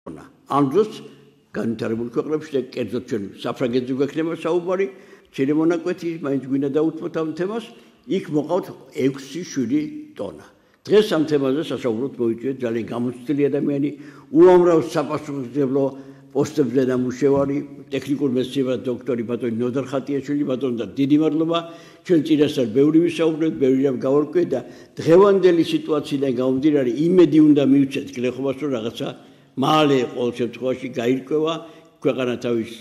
ამ დროს განვითარებულ ქვეყნებში და კერძოდ ჩვენ საფრანგეთზე გვექნება საუბარი, მცირე მონაკვეთი, მაინც გვინდა დავუთმოთ ამ თემას, იქ მოყავთ 6-7 ტონა. დღეს ამ თემაზე სასაუბროდ მოვიწვიეთ ძალიან გამოცდილი ადამიანი, უამრავ საპასუხისმგებლო პოსტებზე ნამუშევარი, ტექნიკურ მეცნიერებათა დოქტორი ბატონი ნოდარ ხატიაშვილი, ბატონო დიდი მადლობა. ჩვენ წინასწარ ბევრი ვისაუბრეთ, ბევრი რამ გავარკვიეთ და დღევანდელი სიტუაციიდან გამომდინარე იმედი უნდა მივცეთ გლეხობას, რომ რაღაცა მალე ყოველ შემთხვევაში გაირკვევა, ქვეყანა თავის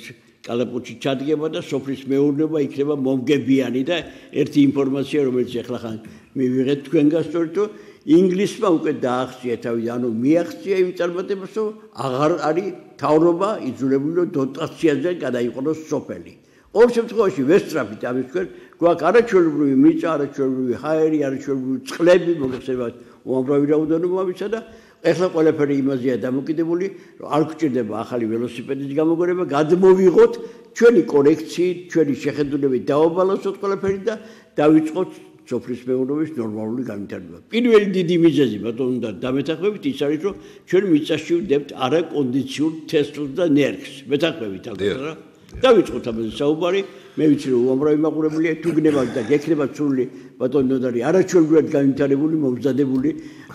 კალაპოტში ჩადგება და სოფლის მეურნეობა იქნება მომგებიანი და ერთი ინფორმაცია, რომელიც ახლა ხან მივიღეთ თქვენგან სწორედ რომ ინგლისმა უკვე დაახცია თავი, ანუ მიაღწია იმ წარმატებას, რომ აღარ არის თავრობა იძულებული რომ დოტაციაზე გადაიყენოს სოფელი. Ყოველ შემთხვევაში ვესწრაფით ამის თქვენ, გვაქვს არაჩვეულებრივი მიწა, არაჩვეულებრივი ჰაერი, არაჩვეულებრივი წყლები, მოგეხსენებათ უამრავი რაოდენობა ამისა და ეხლა ყველაფერი იმაზეა დამოკიდებული, რომ არ გვჭირდება ახალი ველოსიპედის გამოგონება, გადმოვიღოთ ჩვენი კორექციით, ჩვენი შეხედულებით დავალოსოთ ყველაფერი და დავიწყოთ სოფლის მეურნეობის ნორმალური განვითარება. პირველი დიდი მიზეზი ბატონო და დამეთანხმებით ის არის, რომ ჩვენ მიწაში ვდებთ არაკონდიციურ თესლს და ნერგს. მეთანხმებით ალბათ რა. დავიწყოთ ამაზე საუბარი. მე ვიცი რომ უამრავი მაყურებელია, თუ გნებავთ და გექნებათ სრული ბატონო ნოდარი არაჩვეულებრივად განვითარებული, მომზადებული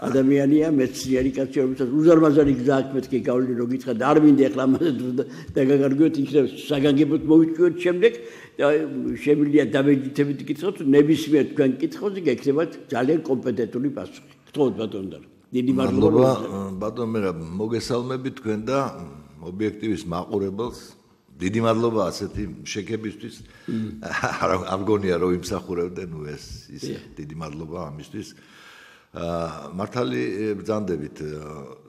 ადამიანია, მეცნიერი კაცი, რომელსაც უზარმაზარი გზა აქვს მეთქი გავლილი რომ გითხრათ, არ მინდა ახლა ამაზე დაგაგარგვიოთ, იქნებ საგანგებოდ მოვიწვიოთ შემდეგ და შემიძლია დამეჯითებით გითხრათ, ნებისმიერ თქვენ კითხვაზე გექნებათ ძალიან კომპეტენტური პასუხი. გთხოვთ ბატონო და დიდი მადლობა. ბატონო მე მოგესალმები თქვენ და ობიექტივის მაყურებელს. დიდი მადლობა ასეთი შექებისთვის. არ გონია რომ იმსახურებდე, ნუ ეს ისე დიდი მადლობა ამისთვის. მართალი ბრძანდებით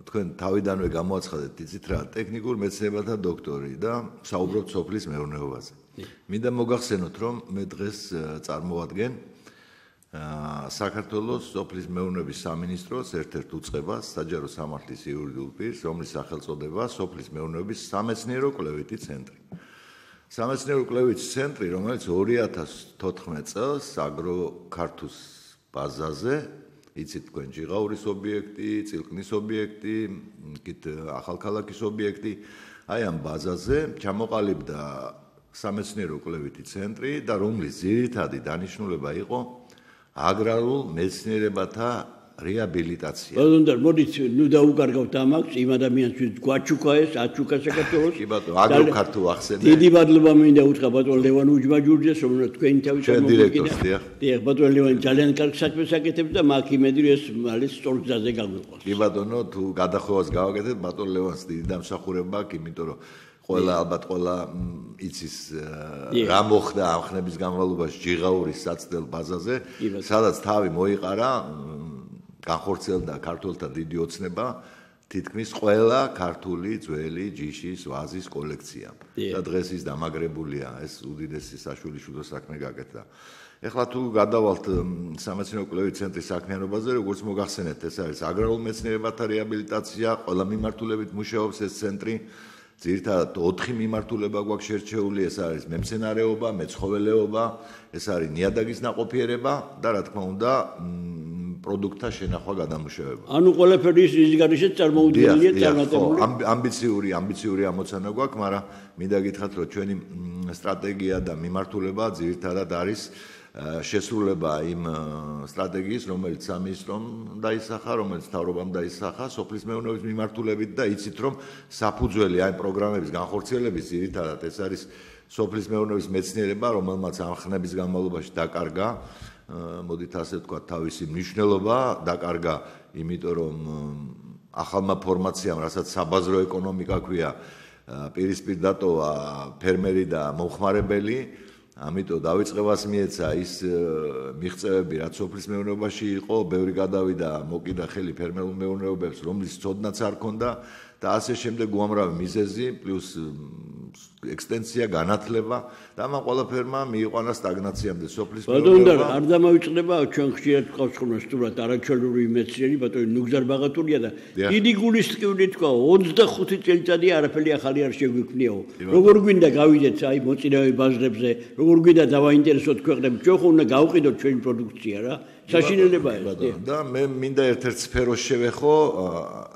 თქვენ თავიდანვე გამოაცხადეთ, იცით რა, ტექნიკურ მეცნიერებათა დოქტორი და საუბრობთ სოფლის მეურნეობაზე. მინდა მოგახსენოთ, რომ მე დღეს წარმოვადგენ საქართველოს სოფლის მეურნეობის სამინისტროს ერთ-ერთ უწყებას, საჯარო სამართლის იურიდიულ პირს, რომლის სახელწოდებაა სოფლის მეურნეობის სამეცნიერო-კვლევითი ცენტრი. სამეცნიერო-კვლევითი ცენტრი, რომელიც 2014 წელს აგროქართუს ბაზაზე, იცით თქვენ ჯიღაურის ობიექტი, წილკნის ობიექტი, იქით ახალქალაქის ობიექტი, აი ამ ბაზაზე ჩამოყალიბდა სამეცნიერო-კვლევითი ცენტრი და რომლის ძირითადი დანიშნულება იყო აგრარულ მეცნიერებათა რეაბილიტაცია. ბატონო, მოდით ნუ დაუკარგავთ ამას, იმ ადამიანს გვაჩუკა ეს, აჩუკა საქართველოს. კი ბატონო, აგროქართუ ახსენე. დიდი მადლობა მინდა უთხრა ბატონო ლევან უჯმაჯურიძეს, რომელიც თქვენი თავით დირექტორს, დიახ. დიახ, ბატონო ლევანი ძალიან კარგ საქმეს აკეთებს და მაქვს იმედი რომ ეს მალე სწორ გზაზე გაგვიყვანს. კი ბატონო, თუ გადახვევას გავაკეთეთ, ბატონო ლევანს დიდი დამსახურება აქვს, იმიტომ რომ ალბათ ყველა იცის რა მოხდა ამ ხნების განმავლობაში ჯიღაურის საცდელ ბაზაზე, სადაც თავი მოიყარა, განხორციელდა ქართველთა დიდი ოცნება, თითქმის ყველა ქართული ძველი ჯიშის ვაზის კოლექცია. და დღეს ის დამაგრებულია, ეს უდიდესი საშვილიშვილო საქმე გაკეთდა. ეხლა თუ გადავალთ სამეცნიერო-კვლევითი ცენტრის საქმიანობაზე, როგორც მოგახსენეთ, ეს არის აგრარულ მეცნიერებათა რეაბილიტაცია, ყველა მიმართულებით მუშაობს ეს ცენტრი. ძირითადად 4 მიმართულება გვაქვს შერჩეული, ეს არის მემცენარეობა, მეცხოველეობა, ეს არის ნიადაგის ნაყოფიერება და რა თქმა უნდა პროდუქტთა შენახვა გადამუშავება. ანუ ყველაფერი ის გარშე წარმოუდგენელია წარმატებული. ამბიციური ამოცანა გვაქვს, მაგრამ მინდა გითხრათ, რომ ჩვენი სტრატეგია და მიმართულება ძირითადად არის შესრულება იმ სტრატეგიის, რომელიც სამინისტრომ დაისახა, რომელიც მთავრობამ დაისახა სოფლის მეურნეობის მიმართულებით და იცით, რომ საფუძველი აი პროგრამების განხორციელების ძირითადად ეს არის სოფლის მეურნეობის მეცნიერება, რომელმაც ამ ხნების განმავლობაში დაკარგა, მოდით ასე ვთქვათ, თავისი მნიშვნელობა, დაკარგა, იმიტომ რომ ახალმა ფორმაციამ, რასაც საბაზრო ეკონომიკა ქვია, პირისპირ დატოვა ფერმერი და მომხმარებელი. ამიტომ დავიწყებას მიეცა ის მიღწევები, რაც სოფლის მეურნეობაში იყო, ბევრი გადავიდა, მოკიდა ხელი ფერმერულ მეურნეობებს, რომლის ცოდნაც არ ქონდა და ასე შემდეგ უამრავი მიზეზი, პლუს ექსტენსია, განათლება და ამ ყველაფერმა მიიყვანა სტაგნაციამდე სოფლის მეურნეობა. ბატონო, არ დამავიწყდება, ჩვენ ხშირად ვყავს ხოლმე სტუმრად არაჩვეულებრივი მეცნიერი, ბატონო ნუგზარ ბაღატურია და დიდი გულისწყივით თქვა, 25 წელიწადია არაფერი ახალი არ შეგვიქმნიაო. როგორ გვინდა გავიდეთ აი მოწინავე ბაზრებზე, როგორ გვინდა დავაინტერესოთ ქვეყნები, ჩვენ ხო უნდა გავყიდოთ ჩვენი პროდუქცია რა. საშინელებაა ეს. და მე მინდა ერთ-ერთ სფეროს შევეხო,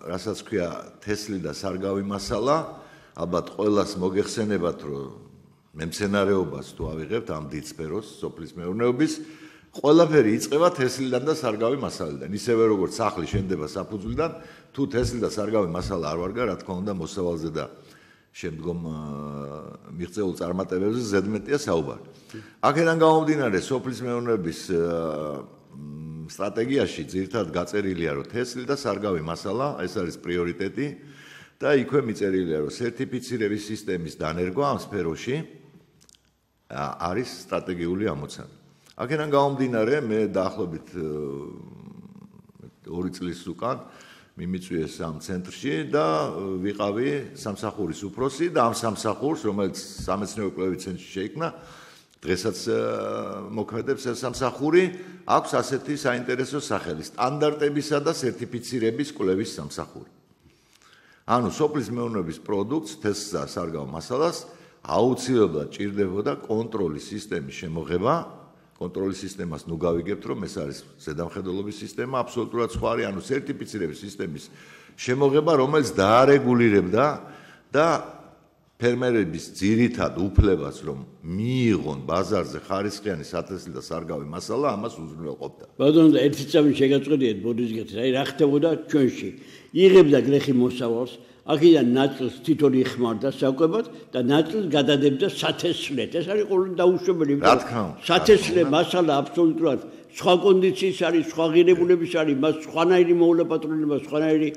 რასაც ქვია თესლი და სარგავი მასალა, ალბათ ყველას მოგეხსენებათ, რომ მემცენარეობას თუ ავიღებთ ამ დიდ სფეროს, სოფლის მეურნეობის, ყველაფერი იწყება თესლიდან და სარგავი მასალიდან. ისევე როგორც სახლი შენდება საფუძვლიდან, თუ თესლი და სარგავი მასალა არ ვარგა, რა თქმა უნდა, მოსავალზე და შემდგომ მიღწეულ წარმატებებზე ზედმეტია საუბარი. აქედან გამომდინარე, სოფლის მეურნეობის სტრატეგიაში ძირითადად გაწერილია, რომ თესლი და სარგავი მასალა ეს არის პრიორიტეტი და იქვე მიწერილია, რომ სერტიფიცირების სისტემის დანერგვა ამ სფეროში არის სტრატეგიული ამოცანა. აქედან გამომდინარე, მე დაახლოებით 2 წლის უკან მიმიწვიეს ამ ცენტრში და ვიყავი სამსახურის უფროსი და ამ სამსახურს, რომელიც სამეცნიერო კვლევით ცენტრში შეიქმნა, დღესაც მოქმედებს ეს სამსახური, აქვს ასეთი საინტერესო სახელი: სტანდარტებისა და სერტიფიცირების კვლევის სამსახური. ანუ სოფლის მეურნეობის პროდუქტს, თესლს და სარგავ მასალას აუცილებლად ჭირდებოდა კონტროლის სისტემის შემოღება. კონტროლის სისტემას ნუ გავიგებთ, რომ ეს არის ზედამხედველობის სისტემა, აბსოლუტურად სხვა არის, ანუ სერტიფიცირების სისტემის შემოღება, რომელიც დაარეგულირებდა და ფერმერების ძირითად უფლებას, რომ მიიღონ ბაზარზე ხარისხიანი სათესლი და სარგავი მასალა, ამას უზრუნველყოფდა. ბატონო, ერთი წამი შეგაწყვეტიეთ ბოდიშგეთის, აი რა ხდებოდა ჩვენში. იღებდა გლეხი მოსავალს, აქედან ნაწილს თვითონ იხმარდა საკვებად და ნაწილს გადადებდა სათესლად. ეს არის ყოველ დაუშვებელი. რა თქმა უნდა. სათესლე მასალა აბსოლუტურად სხვა კონდიციის არის, სხვა ღირებულების არის, მას სხვანაირი მოულაპატრონება, სხვანაირი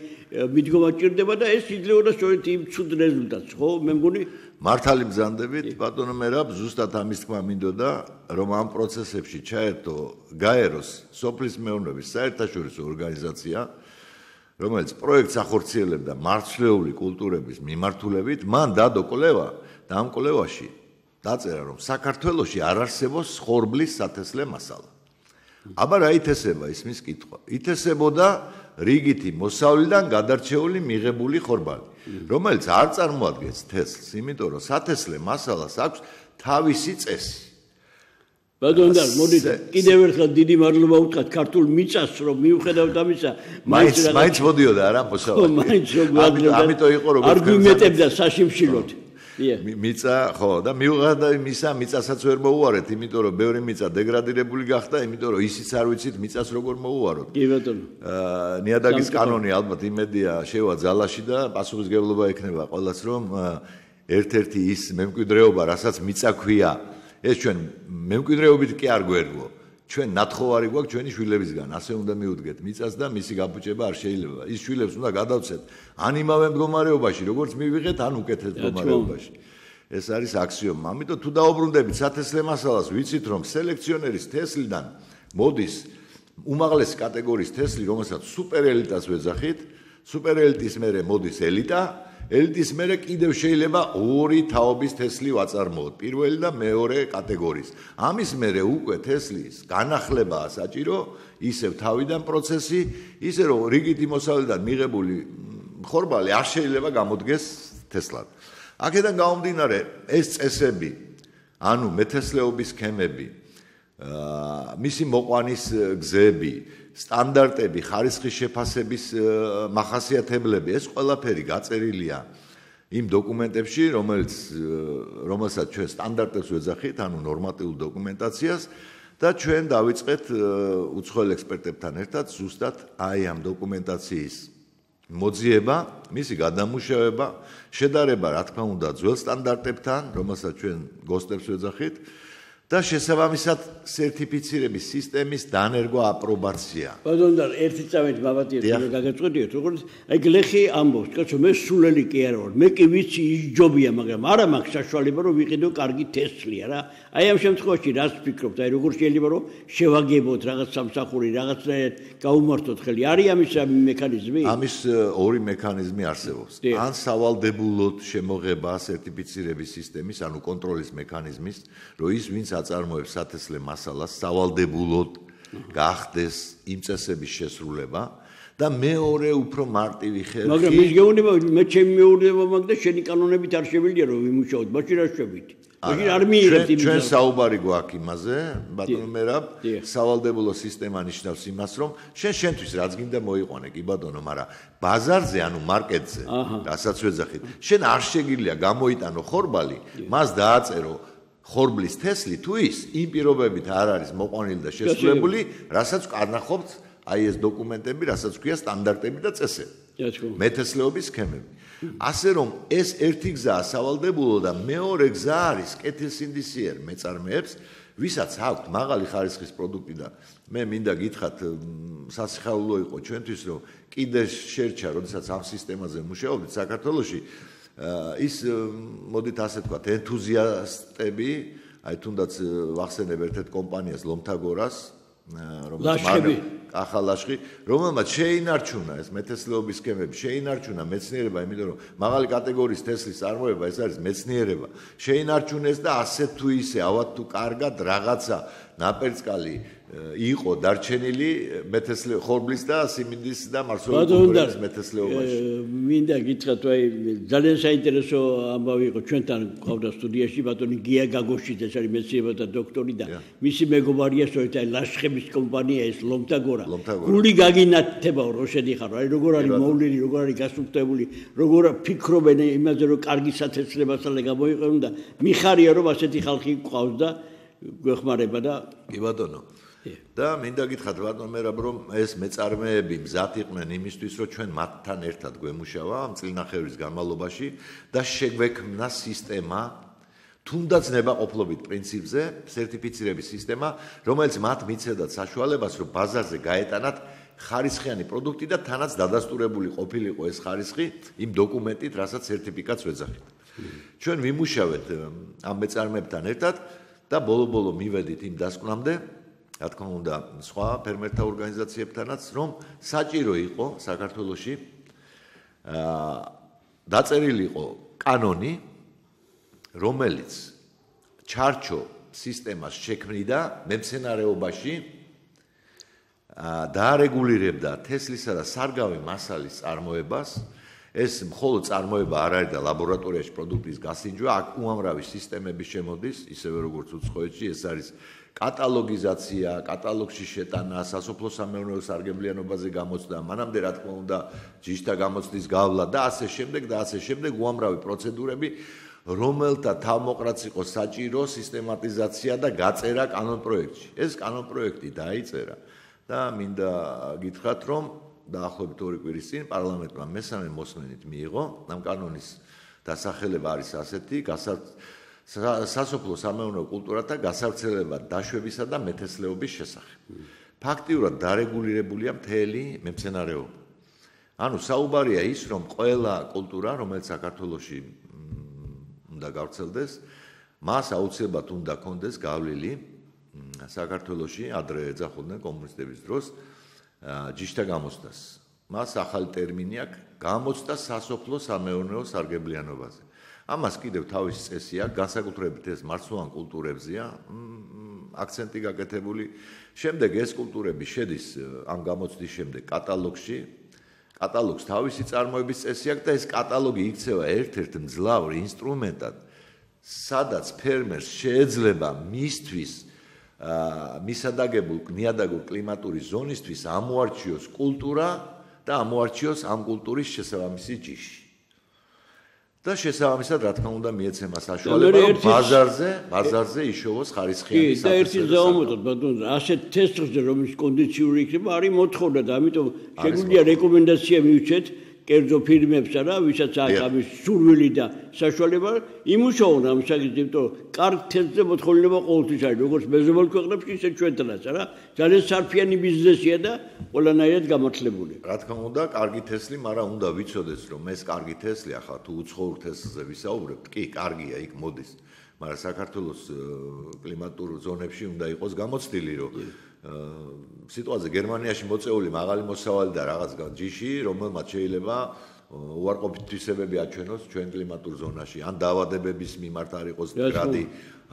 მიდგომა ჭირდება და ეს იძლეოდა სწორედ იმ ცუდ რეზულტატს, ხო? მე მგონი მართალი ბრძანდებით, ბატონო მერაბ, ზუსტად ამის თქმა მინდოდა, რომ ამ პროცესებში ჩაერთო გაეროს სოფლის მეურნეობის საერთაშორისო ორგანიზაცია, რომელიც პროექტს ახორციელებდა მარცვლეული კულტურების მიმართულებით, მან დადო კვლევა და ამ კვლევაში დაწერა, რომ საქართველოში არ არსებობს ხორბლის სათესლე მასალა. აბა რა ითესება ისმის კითხვა? ითესებოდა რიგითი მოსავლიდან გადარჩეული მიღებული ხორბალი, რომელიც არ წარმოადგენს თესლს, იმიტომ რომ სათესლე მასალას აქვს თავისი წესი. ბატონო, მოდით კიდევ ერთხელ დიდი მადლობა ვუთხრათ ქართულ მიწას, რომ მიუხედავად ამისა, მაინც მოდიოდა რა მოსავალი. მაინც ამიტომ იყო როგორც არგუმენტებდა საშიმშილოდ. მიწა, ხო, და მიუხედავად იმისა, მიწასაც ვერ მოუარეთ, იმიტომ რომ ბევრი მიწა დეგრადირებული გახდა, იმიტომ რომ ისიც არ ვიცით მიწას როგორ მოუაროთ. კი ბატონო. ნიადაგის კანონი ალბათ იმედია შევა ძალაში და პასუხისმგებლობა ექნება ყველას, რომ ერთ-ერთი ის მემკვიდრეობა, რასაც მიწა ქვია, ეს ჩვენ მემკვიდრეობით კი არ გვერგო. ჩვენ ნათხოვარი გვაქვს ჩვენი შვილებისგან, ასე უნდა მიუდგეთ მიწას და მისი გაფუჭება არ შეიძლება. ის შვილებს უნდა გადავცეთ ან იმავე მდგომარეობაში, როგორც მივიღეთ, ან უკეთეს მდგომარეობაში. ეს არის აქსიომა. ამიტომ თუ დაუბრუნდებით სათესლე მასალას, ვიცით რომ სელექციონერის თესლიდან მოდის უმაღლესი კატეგორიის თესლი, რომელსაც სუპერელიტას ვეძახით, სუპერელიტის მერე მოდის ელიტა, ელიტის მერე კიდევ შეიძლება 2 თაობის თესლი ვაწარმოოთ, პირველი და მეორე კატეგორიის. ამის მერე უკვე თესლის განახლებაა საჭირო, ისევ თავიდან პროცესი, ისე რომ რიგითი მოსავლიდან მიღებული ხორბალი არ შეიძლება გამოდგეს თესლად. აქედან გამომდინარე, ეს წესები, ანუ მეთესლეობის სქემები, მისი მოყვანის გზები, სტანდარტები, ხარისხის შეფასების მახასიათებლები, ეს ყველაფერი გაწერილია იმ დოკუმენტებში, რომელსაც ჩვენ სტანდარტებს ვეძახით, ანუ ნორმატიულ დოკუმენტაციას და ჩვენ დავიწყეთ უცხოელ ექსპერტებთან ერთად ზუსტად აი ამ დოკუმენტაციის მოძიება, მისი გადამუშავება, შედარება, რა თქმა უნდა, ძველ სტანდარტებთან, რომელსაც ჩვენ გოსტებს ვეძახით და შესაბამისად სერტიფიცირების სისტემის დანერგვა, აპრობაცია. ბატონო, ერთი წამით მაბატიეთ, გაგაწყვეტიეთ, როგორც აი გლეხი ამბობს, კაცო, მე სულელი კი არ ვარ, მე კი ვიცი ის ჯობია, მაგრამ არა მაქვს საშუალება, რომ ვიყიდო კარგი თესლია რა. აი ამ შემთხვევაში რას ფიქრობთ? აი როგორ შეიძლება რომ შევაგებოთ რაღაც სამსახური, რაღაცნაირად გაუმართოთ ხელი? არის ამის მექანიზმი? ამის 2 მექანიზმი არსებობს. ან სავალდებულოდ შემოღება სერტიფიცირების სისტემის, ანუ კონტროლის მექანიზმის, რომ ის ვინც აწარმოებს სათესლე მასალას სავალდებულოდ გახდეს იმ წესების შესრულება და მეორე უფრო მარტივი ხერხი. მაგრამ ის გეუბნება, მე ჩემი მეურნეობა მაქვს და შენი კანონებით არ შევიძლია რომ ვიმუშაოთ, მაშინ რა შევით? ჩვენ საუბარი გვაქვს იმაზე, ბატონო მერაბ, სავალდებულო სისტემა ნიშნავს იმას, რომ შენთვის რაც გინდა მოიყვანე, კი ბატონო, მაგრამ ბაზარზე, ანუ მარკეტზე, რასაც ვეძახით, შენ არ შეგიძლია გამოიტანო ხორბალი, მას დააწერო ხორბლის თესლი თუ ის იმ პირობებით არ არის მოყვანილი და შესრულებული, რასაც კარნახობთ აი ეს დოკუმენტები, რასაც ქვია სტანდარტები და წესები. მეთესლეობის სქემები. ასე რომ ეს ერთი გზაა სავალდებულო და მეორე გზა არის კეთილსინდისიერ მეწარმეებს, ვისაც აქვთ მაღალი ხარისხის პროდუქტი და მე მინდა გითხრათ სასიხაულო იყო ჩვენთვის, რომ კიდე შერჩა, როდესაც ამ სისტემაზე მუშაობდით საქართველოში, ის მოდით ასე ვთქვათ, ენთუზიასტები, აი თუნდაც ვახსენებ ერთ-ერთ კომპანიას ლომთაგორას, ახალაშხი, რომელმაც შეინარჩუნა ეს მეთესლეობის სქემები, შეინარჩუნა მეცნიერება, იმიტომ რომ მაღალი კატეგორიის თესლის წარმოება ეს არის მეცნიერება. შეინარჩუნეს და ასე თუ ისე, ავად თუ კარგად რაღაცა ნაპერწკალი იყო დარჩენილი ხორბლის და სიმინდის და მარცვლეულის მეთესლეობაში. მინდა გითხრათ, აი ძალიან საინტერესო ამბავი იყო ჩვენთან ყავდა სტუდიაში ბატონი გია გაგოშიძე, ეს არის მეცნიერებათა დოქტორი და მისი მეგობარია სწორედ აი ლაშხების კომპანია ეს ლომთაგორა. გული გაგინათებაო რო შედიხარო, აი როგორ არის მოვლილი, როგორ არის გასუფთებული, როგორ ფიქრობენ იმაზე რომ კარგი სათესლებასალე გამოიყენონ და მიხარია რომ ასეთი ხალხი ყავს და გვეხმარება და კი ბატონო. და მინდა გითხრათ ბატონო მერაბ, რომ ეს მეწარმეები მზად იყვნენ იმისთვის, რომ ჩვენ მათთან ერთად გვემუშავა ამ წლინახევრის განმავლობაში და შეგვექმნა სისტემა, თუნდაც ნებაყოფლობით პრინციპზე, სერტიფიცირების სისტემა, რომელიც მათ მიცემდა საშუალებას, რომ ბაზარზე გაეტანათ ხარისხიანი პროდუქტი და თანაც დადასტურებული ყოფილიყო ეს ხარისხი იმ დოკუმენტით, რასაც სერტიფიკატს ვეძახით. ჩვენ ვიმუშავეთ ამ მეწარმეებთან ერთად და ბოლო-ბოლო მივედით იმ დასკვნამდე, რა თქმა უნდა, სხვა ფერმერთა ორგანიზაციებთანაც, რომ საჭირო იყო საქართველოში დაწერილი იყო კანონი, რომელიც ჩარჩო სისტემას შექმნიდა მემცენარეობაში, დაარეგულირებდა თესლისა და სარგავი მასალის წარმოებას. ეს მხოლოდ წარმოება არ არის და ლაბორატორიაში პროდუქტის გასინჯვა, აქ უამრავი სისტემები შემოდის, ისევე როგორც უცხოეთში, ეს არის კატალოგიზაცია, კატალოგში შეტანა, სასოფლო-სამეურნეო სარგებლიანობაზე გამოცდა, მანამდე რა თქმა უნდა, ჯიშთა გამოცდის გავლა და ასე შემდეგ, უამრავი პროცედურები, რომელთა თავმოყრაც იყო საჭირო სისტემატიზაცია და გაწერა კანონპროექტში. ეს კანონპროექტი დაიწერა და მინდა გითხრათ, რომ დაახლოებით 2 კვირის წინ პარლამენტმა მესამე მოსმენით მიიღო ამ კანონის დასახელება არის ასეთი: სასოფლო-სამეურნეო კულტურათა გასავრცელება დაშვებისა და მეთესლეობის შესახებ. ფაქტიურად დარეგულირებულია მთელი მემცენარეობა. ანუ საუბარია ის, რომ ყველა კულტურა, რომელიც საქართველოში უნდა გავრცელდეს, მას აუცილებლად უნდა კონდეს გავლილი საქართველოში ადრე ეძახოდნენ კომუნისტების დროს ჯიშთა გამოცდას. მას ახალი ტერმინი აქვს გამოცდა სასოფლო-სამეურნეო სარგებლიანობაზე. ამას კიდევ თავისი წესი აქვს, განსაკუთრებით ეს მარცვლოვან კულტურებზეა აქცენტი გაკეთებული. შემდეგ ეს კულტურები შედის ამ გამოცდის შემდეგ კატალოგში. კატალოგს თავისი წარმოების წესი აქვს და ეს კატალოგი იქცევა ერთ-ერთ მძლავრ ინსტრუმენტად, სადაც ფერმერს შეეძლება მისთვის მისადაგებულ ნიადაგურ კლიმატური ზონისთვის ამოარჩიოს კულტურა და ამოარჩიოს ამ კულტურის შესაბამისი ჯიში. და შესაბამისად, რა თქმა უნდა, მიეცემა საშუალება, რომ ბაზარზე იშოვოს ხარისხიანი სათესლო. და ერთი ზაუმეტოდ, ბატონო, ასეთ თესლზე რომლის კონდიციური იქნება, არის მოთხოვნა და ამიტომ შეგვიძლია რეკომენდაცია მივცეთ კერძო ფირმებსა რა, ვისაც აქვს ამის სურვილი და საშუალება, იმუშაონ ამ საკითხზე, კარგ თესლზე მოთხოვნილება ყოველთვის არის, როგორც მეზობელ ქვეყნებში, ისე ჩვენთანაც რა. ძალიან სარფიანი ბიზნესია და ყველანაირად გამართლებული. რა თქმა უნდა, კარგი თესლი, მაგრამ უნდა ვიცოდეს, რომ ეს კარგი თესლი ახლა თუ უცხოურ თესლზე ვისაუბრებთ, კი, კარგია, იქ მოდის, მაგრამ საქართველოს კლიმატურ ზონებში უნდა იყოს გამოცდილი, რომ სიტუაცია გერმანიაში მოწეული მაღალი მოსავალი და რაღაც ჯიში, რომელმაც შეიძლება უარყოფით თვისებები აჩვენოს ჩვენ კლიმატურ ზონაში, ან დაავადებების მიმართ არ იყოს მდგრადი,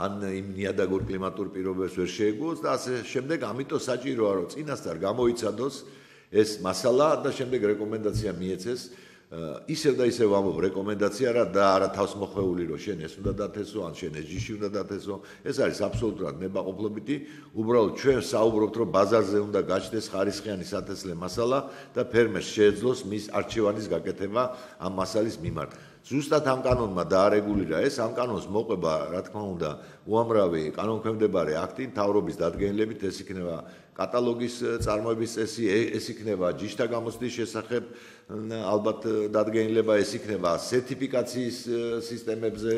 ან იმ ნიადაგურ კლიმატურ პირობებს ვერ შეეგუოს და ასე შემდეგ. ამიტომ საჭიროა, რომ წინასწარ გამოიცადოს ეს მასალა და შემდეგ რეკომენდაცია მიეცეს ისევ და ისევ ამბობ რეკომენდაცია რა და არა თავს მოხვეული რომ შენ ეს უნდა დათესო ან შენ ეს ჯიში უნდა დათესო ეს არის აბსოლუტურად ნებაყოფლობითი უბრალოდ ჩვენ საუბრობთ რომ ბაზარზე უნდა გაჩნდეს ხარისხიანი სათესლე მასალა და ფერმერს შეეძლოს მის არჩევანის გაკეთება ამ მასალის მიმართ ზუსტად ამ კანონმა დაარეგულირა ეს ამ კანონს მოყვება რა თქმა უნდა უამრავი კანონქვემდებარე აქტი მთავრობის დადგენილებით ეს იქნება კატალოგის წარმოების წესი ეს იქნება ჯიშთა გამოცდის შესახებ ალბათ დადგენილება ეს იქნება სერტიფიკაციის სისტემებზე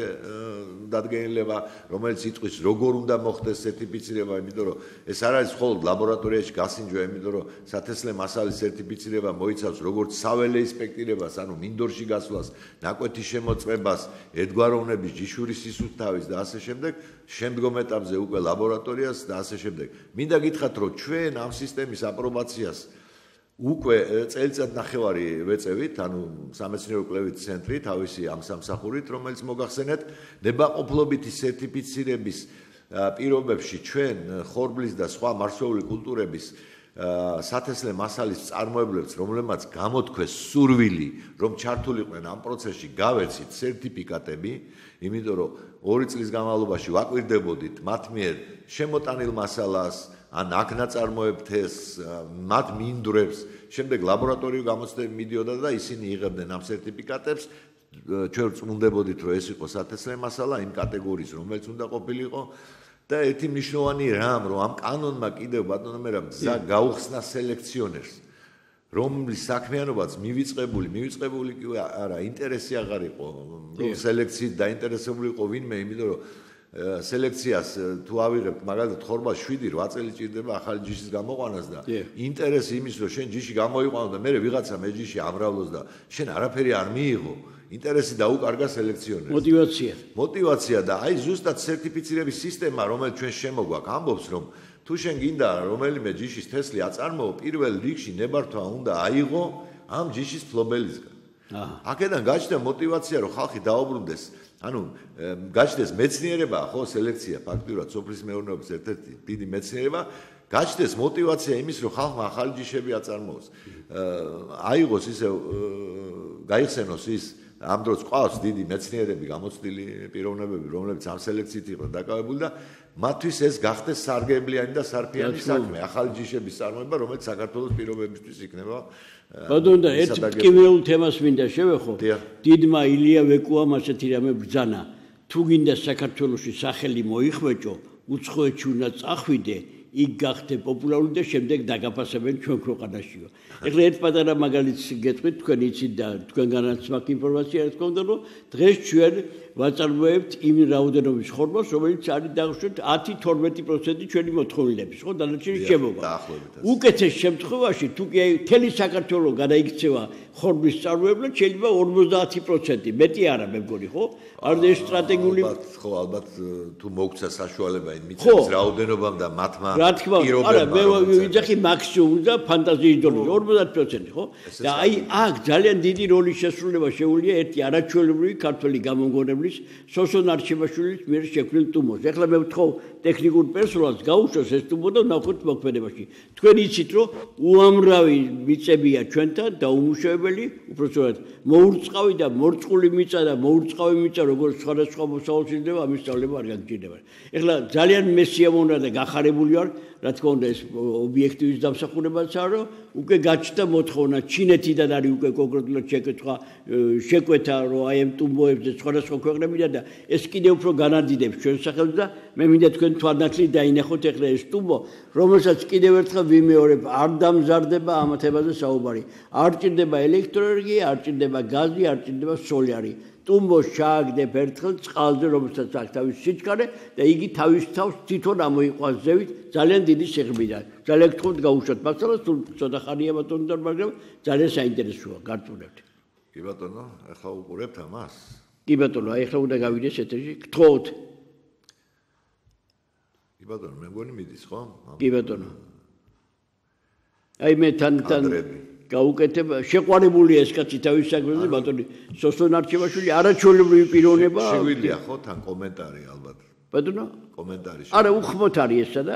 დადგენილება რომელიც იტყვის როგორ უნდა მოხდეს სერტიფიცირება იმიტომ რომ ეს არ არის მხოლოდ ლაბორატორიაში გასინჯვა იმიტომ რომ სათესლე მასალის სერტიფიცირება მოიცავს როგორც საველე ინსპექტირებას ანუ მინდორში გასვლას ნაკვეთის შემოწმებას ერთგვაროვნების ჯიშური სისუფთავის და ასე შემდეგ შემდგომ ეტაპზე უკვე ლაბორატორიას და ასე შემდეგ მინდა გითხრათ რომ ჩვენ ამ სისტემის აპრობაციას უკვე წელიწად ნახევარი ვეწევით, ანუ სამეცნიერო კვლევით ცენტრი თავისი ამ სამსახურით, რომელიც მოგახსენეთ, ნებაყოფლობითი სერტიფიცირების პირობებში ჩვენ ხორბლის და სხვა მარცვლეული კულტურების სათესლე მასალის წარმოებლებს, რომლებმაც გამოთქვეს სურვილი, რომ ჩართულიყვნენ ამ პროცესში, გავერცით სერტიფიკატები, იმიტომ რომ 2 წლის განმავლობაში ვაკვირდებოდით მათ მიერ შემოტანილ მასალას ან აქ ნაწარმოებთეს, მათ მინდვრებს, შემდეგ ლაბორატორიულ გამოცდები მიდიოდა და ისინი იღებდნენ ამ სერტიფიკატებს, ჩვენ ვწმუნდებოდით, რომ ეს იყო სათესლე მასალა იმ კატეგორიის, რომელიც უნდა ყოფილიყო და ერთი მნიშვნელოვანი რამ, რომ ამ კანონმა კიდევ ბატონო მერაბ გზა გაუხსნა სელექციონერს, რომლის საქმიანობაც მივიწყებული კი არა, ინტერესი აღარ იყო, რომ სელექციით დაინტერესებული იყო ვინმე, იმიტომ რომ სელექციას თუ ავიღებთ მაგალითად ხორბას 7-8 წელი ჭირდება ახალი ჯიშის გამოყვანას და ინტერესი იმის რომ შენ ჯიში გამოიყვანო და მე ვიღაცა მე ჯიში ამრავლოს და შენ არაფერი არ მიიღო ინტერესი დაუკარგა სელექციონერს მოტივაცია და აი ზუსტად სერტიფიცირების სისტემა რომელიც ჩვენ შემოგვაქვს ამბობს რომ თუ შენ გინდა რომელიმე ჯიშის თესლი აწარმოო პირველ რიგში ნებართვა უნდა აიღო ამ ჯიშის ფლობელისგან აქედან გაჩნდა მოტივაცია რომ ხალხი დაუბრუნდეს ანუ გაჩნდეს მეცნიერება ხო სელექცია ფაქტურად სოფლის მეურნეობის ერთ-ერთი დიდი მეცნიერება გაჩნდეს მოტივაცია იმის რომ ხალხმა ახალი ჯიშები აწარმოოს აიღოს ისე გაიხსენოს ის ამ დროს ყავს დიდი მეცნიერები გამოცდილი პიროვნებები რომლებიც ამ სელექციით იყვნენ დაკავებული და მათთვის ეს გახდეს სარგებლიანი და სარფიანი საქმე ახალი ჯიშების წარმოება რომელიც საქართველოს პირობებისთვის იქნება ბატონო და ერთ ტკივილ თემას მინდა შევეხო დიდმა ილია ვეკუამ ასეთი რამე ბრძანა თუ გინდა საქართველოში სახელი მოიხვეჭო უცხოეთში უნდა წახვიდე იქ გახდე პოპულარული და შემდეგ დაგაფასებენ ჩვენ ქვეყანაშიო ეხლა ერთ პატარა მაგალითს გეტყვით თქვენ იცით და თქვენგანაც მაქვს ინფორმაცია რა თქმა უნდა რომ დღეს ჩვენ ვაწარმოებთ იმ რაოდენობის ხორბალს რომელიც არის დაუშვათ 10-12% ჩვენი მოთხოვნილების ხო დანარჩენი შემოგვა უკეთეს შემთხვევაში თუ კი მთელი საქართველოს გადაიქცევა ხორბლის წარმოებლად შეიძლება 50% მეტი არა მე მგონი ხო არ ეს სტრატეგიული ხო ალბათ თუ მოგცა საშუალება იმ მიწების რაოდენობამ და მათმა რა თქმა უნდა არა მე ვიძახი მაქსიმუმ და ფანტაზიის დონეზე 50% ხო და აი აქ ძალიან დიდი როლი შესრულება შეუძლია ერთი არაჩვეულებრივი ქართველი გამომგონებლის სოსონ არჩევაშვილის მიერ შექმნილ ტუმოს ეხლა მე ვთხოვ ტექნიკურ პერსონალს გაუშვას ეს ტუმო და ნახოთ მოქმედებაში თქვენ იცით რომ უამრავი მიწებია ჩვენთან დაუმუშავებელი უბრალოდ მოურწყავი და მორწყული მიწა და მოურწყავი მიწა როგორც სხვადასხვა მოსავალს იძლევა ამის სწავლება არ გაგჭირდება ეხლა ძალიან მესიამონა და გახარებული ვარ რა თქმა უნდა ეს ობიექტივის დამსახურებაცაა რომ უკვე გაჩნდა მოთხოვნა ჩინეთიდან არის უკვე კონკრეტულად შეკვეთა რომ აი ამ ტუმბოებზე სხვადასხვა ქვეყნებიდან და ეს კიდევ უფრო განადიდებს ჩვენ სახელს და მე მინდა თქვენ თვალნათლით დაინახოთ ეხლა ეს ტუმბო რომელსაც კიდევ ერთხელ ვიმეორებ არ დამზარდება ამ თემაზე საუბარი არ ჭირდება ელექტროენერგია არ ჭირდება გაზი არ ჭირდება სოლარი ტუმბოს ჩააგდებ ერთხელ წყალზე რომელსაც აქვს თავის სიჩქარე და იგი თავის თავს თვითონ ამოიყვანს ზევით ძალიან დიდი სიღრმიდან ძალიან გთხოვთ გაუშვათ მასალას თუ ცოტა ხანია ბატონო მაგრამ ძალიან საინტერესოა გართულებთ კი ბატონო ახლა უყურებთ ამას კი ბატონო აი ახლა უნდა გავიდეს ეთერში გთხოვთ კი ბატონო მე მგონი მიდის ხო კი ბატონო აი მე თან გაუკეთებ შეყვარებულია ეს კაცი თავის საქმეზე ბატონი სოსონ არჩევაშვილი არაჩვეულებრივი პიროვნება შეგვიძლია ხო თან კომენტარი ალბათ ბატონო კომენტარი არა უხმოთ არის ესა და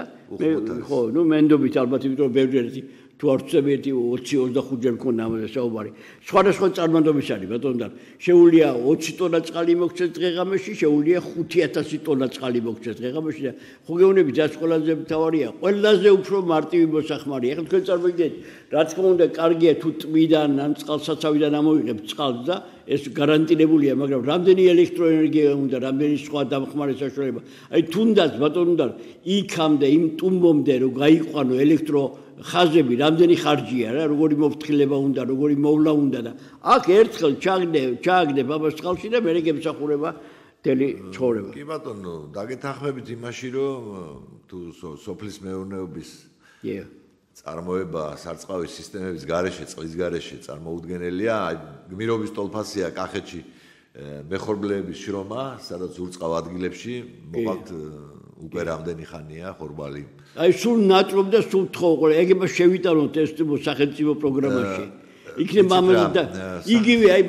ხო ნუ მენდობით ალბათ იმიტომ ბევრი ერთი თუ არ ვწები 20-25-ჯერ მქონდა ამაზე საუბარი. სხვადასხვა წარმატების არის ბატონო და შეუულია 20 ტონა წყალი მოგცეს დღეღამეში, შეუულია 5000 ტონა წყალი მოგცეს დღეღამეში და ხო გეუბნები ძაც ყველაზე მთავარია, ყველაზე უფრო მარტივი მოსახმარია. ეხლა თქვენ წარმოგიდგენთ, რა თქმა უნდა, კარგია თუ ტბიდან ან წყალსაცავიდან ამოვიღებ წყალს და ეს გარანტირებულია, მაგრამ რამდენი ელექტროენერგია უნდა, რამდენი სხვა დამხმარე საშუალება. აი თუნდაც ბატონო და იქამდე იმ ტუმბომდე რომ გაიყვანო ელექტრო ხაზები, რამდენი ხარჯია რა, როგორი მოფრთხილება უნდა, როგორი მოვლა უნდა და აქ ერთხელ ჩააგდებ ამას წყალში და მერე გემსახურება მთელი ცხოვრება. კი ბატონო, დაგეთანხმებით იმაში, რომ თუ სოფლის მეურნეობის წარმოება სარწყავი სისტემების გარეშე, წყლის გარეშე წარმოუდგენელია, გმირობის ტოლფასია კახეთში მეხორბლეების შრომა, სადაც ურწყავ ადგილებში მოყავთ უკვე რამდენი ხანია ხორბალი. აი სულ ნატრობ და სულ თხოვ, ეგება შევიტანოთ ეს სახელმწიფო პროგრამაში. იქნება ამაზე და იგივე აი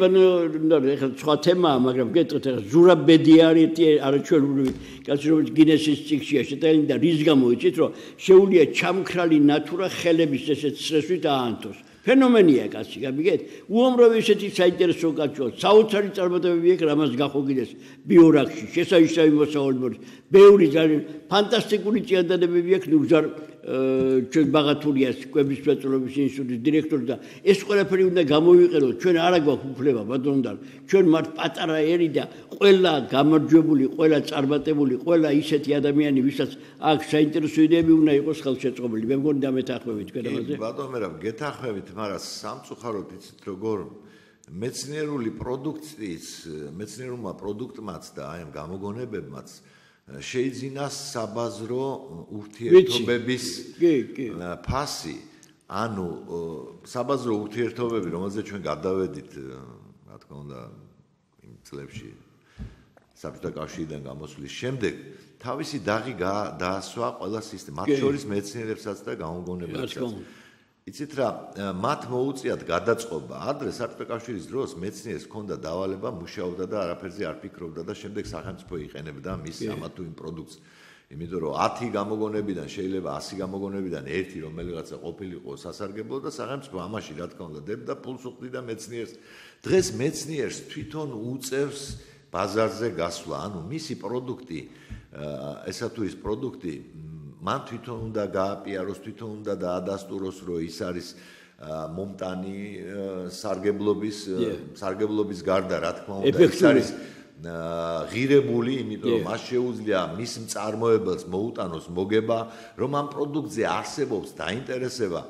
ეხლა სხვა თემაა, მაგრამ გეტყვით ეხლა ზურაბ ბედიარეთი არაჩვეულებრივი კაცი რომელიც გინესის წიგნშია შეტანილი და რის გამო იცით რომ შეუულია ჩამქრალი ნატურა ხელების ესეთ სრესვით აანთოს. ფენომენია კაცი, გამიგეთ? უამრავი ესეთი საინტერესო კაცოა. საოცარი წარმატებები აქვს რამაც გახოგიდეს ბიორაქში, შესანიშნავი მოსავალმორი. ბევრი ძალიან ფანტასტიკური წიადანებები აქვს ნუგზარ ჩვენ ბაღათურიას კვების მრეწველობის ინსტიტუტის დირექტორი და ეს ყველაფერი უნდა გამოვიყენოთ. ჩვენ არა გვაქვს უფლება ბატონო და ჩვენ მართ პატარა ერი და ყველა გამარჯვებული, ყველა წარმატებული, ყველა ისეთი ადამიანი, ვისაც აქ საინტერესო იდეები უნდა იყოს ხელშეწყობილი. მე მგონი დამეთანხმებით თქვენ ამაზე. ბატონო მერაბ, გეთანხმებით, მაგრამ სამწუხაროდ იცით როგორ მეცნიერული პროდუქციის, მეცნიერულმა პროდუქტმაც და აი ამ გამოგონებებმაც შეიძინა საბაზრო ურთიერთობების ფასი, ანუ საბაზრო ურთიერთობები, რომელზეც ჩვენ გადავედით, რა თქმა უნდა, იმ წლებში საბჭოთა კავშირიდან გამოსვლის შემდეგ, თავისი დაღი დაასვა ყველა სისტემა, მათ შორის მეცნიერებსაც და გამოგონებებსაც. იცით რა, მათ მოუწიათ გადაწყობა. ადრე საბჭოთა კავშირის დროს მეცნიერს ჰქონდა დავალება, მუშაობდა და არაფერზე არ ფიქრობდა და შემდეგ სახელმწიფო იყენებდა მის ამა თუ იმ პროდუქტს. იმიტომ რომ 10 გამოგონებიდან შეიძლება 100 გამოგონებიდან ერთი რომელიღაცა ყოფილიყო სასარგებლო და სახელმწიფო ამაში რა თქმა უნდა დებდა ფულს უხდიდა მეცნიერს. დღეს მეცნიერს თვითონ უწევს ბაზარზე გასვლა, ანუ მისი პროდუქტი, ესა თუ ის პროდუქტი მან თვითონ უნდა გააპიაროს, თვითონ უნდა დაადასტუროს, რომ ის არის მომტანი სარგებლობის გარდა, რა თქმა უნდა, ის არის ღირებული, იმიტომ რომ მას შეუძლია მის მწარმოებელს მოუტანოს მოგება, რომ ამ პროდუქტზე არსებობს დაინტერესება.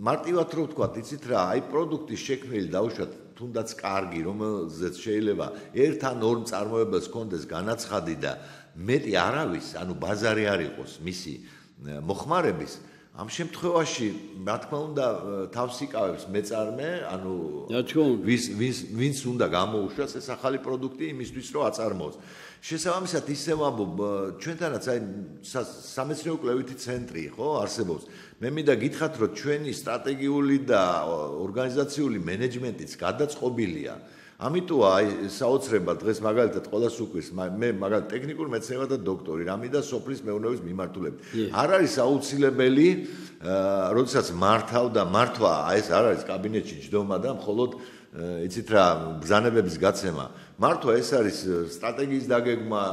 მარტივად რო ვთქვათ, იცით რა, აი პროდუქტის შექმნილი დავუშვათ თუნდაც კარგი, რომელზეც შეიძლება ერთ ან ორ მწარმოებელს ჰქონდეს განაცხადი და მეტი არავის, ანუ ბაზარი არ იყოს მისი მოხმარების, ამ შემთხვევაში, რა თქმა უნდა, თავს იკავებს მეწარმე, ანუ ვინც უნდა გამოუშვას ეს ახალი პროდუქტი იმისთვის, რომ აწარმოოს. შესაბამისად, ისევ ამბობ, ჩვენთანაც აი სამეცნიერო კვლევითი ცენტრი, ხო, არსებობს. მე მინდა გითხრათ, რომ ჩვენი სტრატეგიული და ორგანიზაციული მენეჯმენტიც გადაწყობილია. ამიტომ აი საოცრება დღეს მაგალითად ყოველას უკვირს მე მაგალითად ტექნიკურ მეცნიერებათა დოქტორი, რამე და სოფლის მეურნეობის მიმართულებით. არ არის აუცილებელი, როდესაც მართავ და მართვა, ეს არ არის კაბინეტში ჯდომა და მხოლოდ იცით რა, ბრძანებების გაცემა. მართვა ეს არის სტრატეგიის დაგეგმა,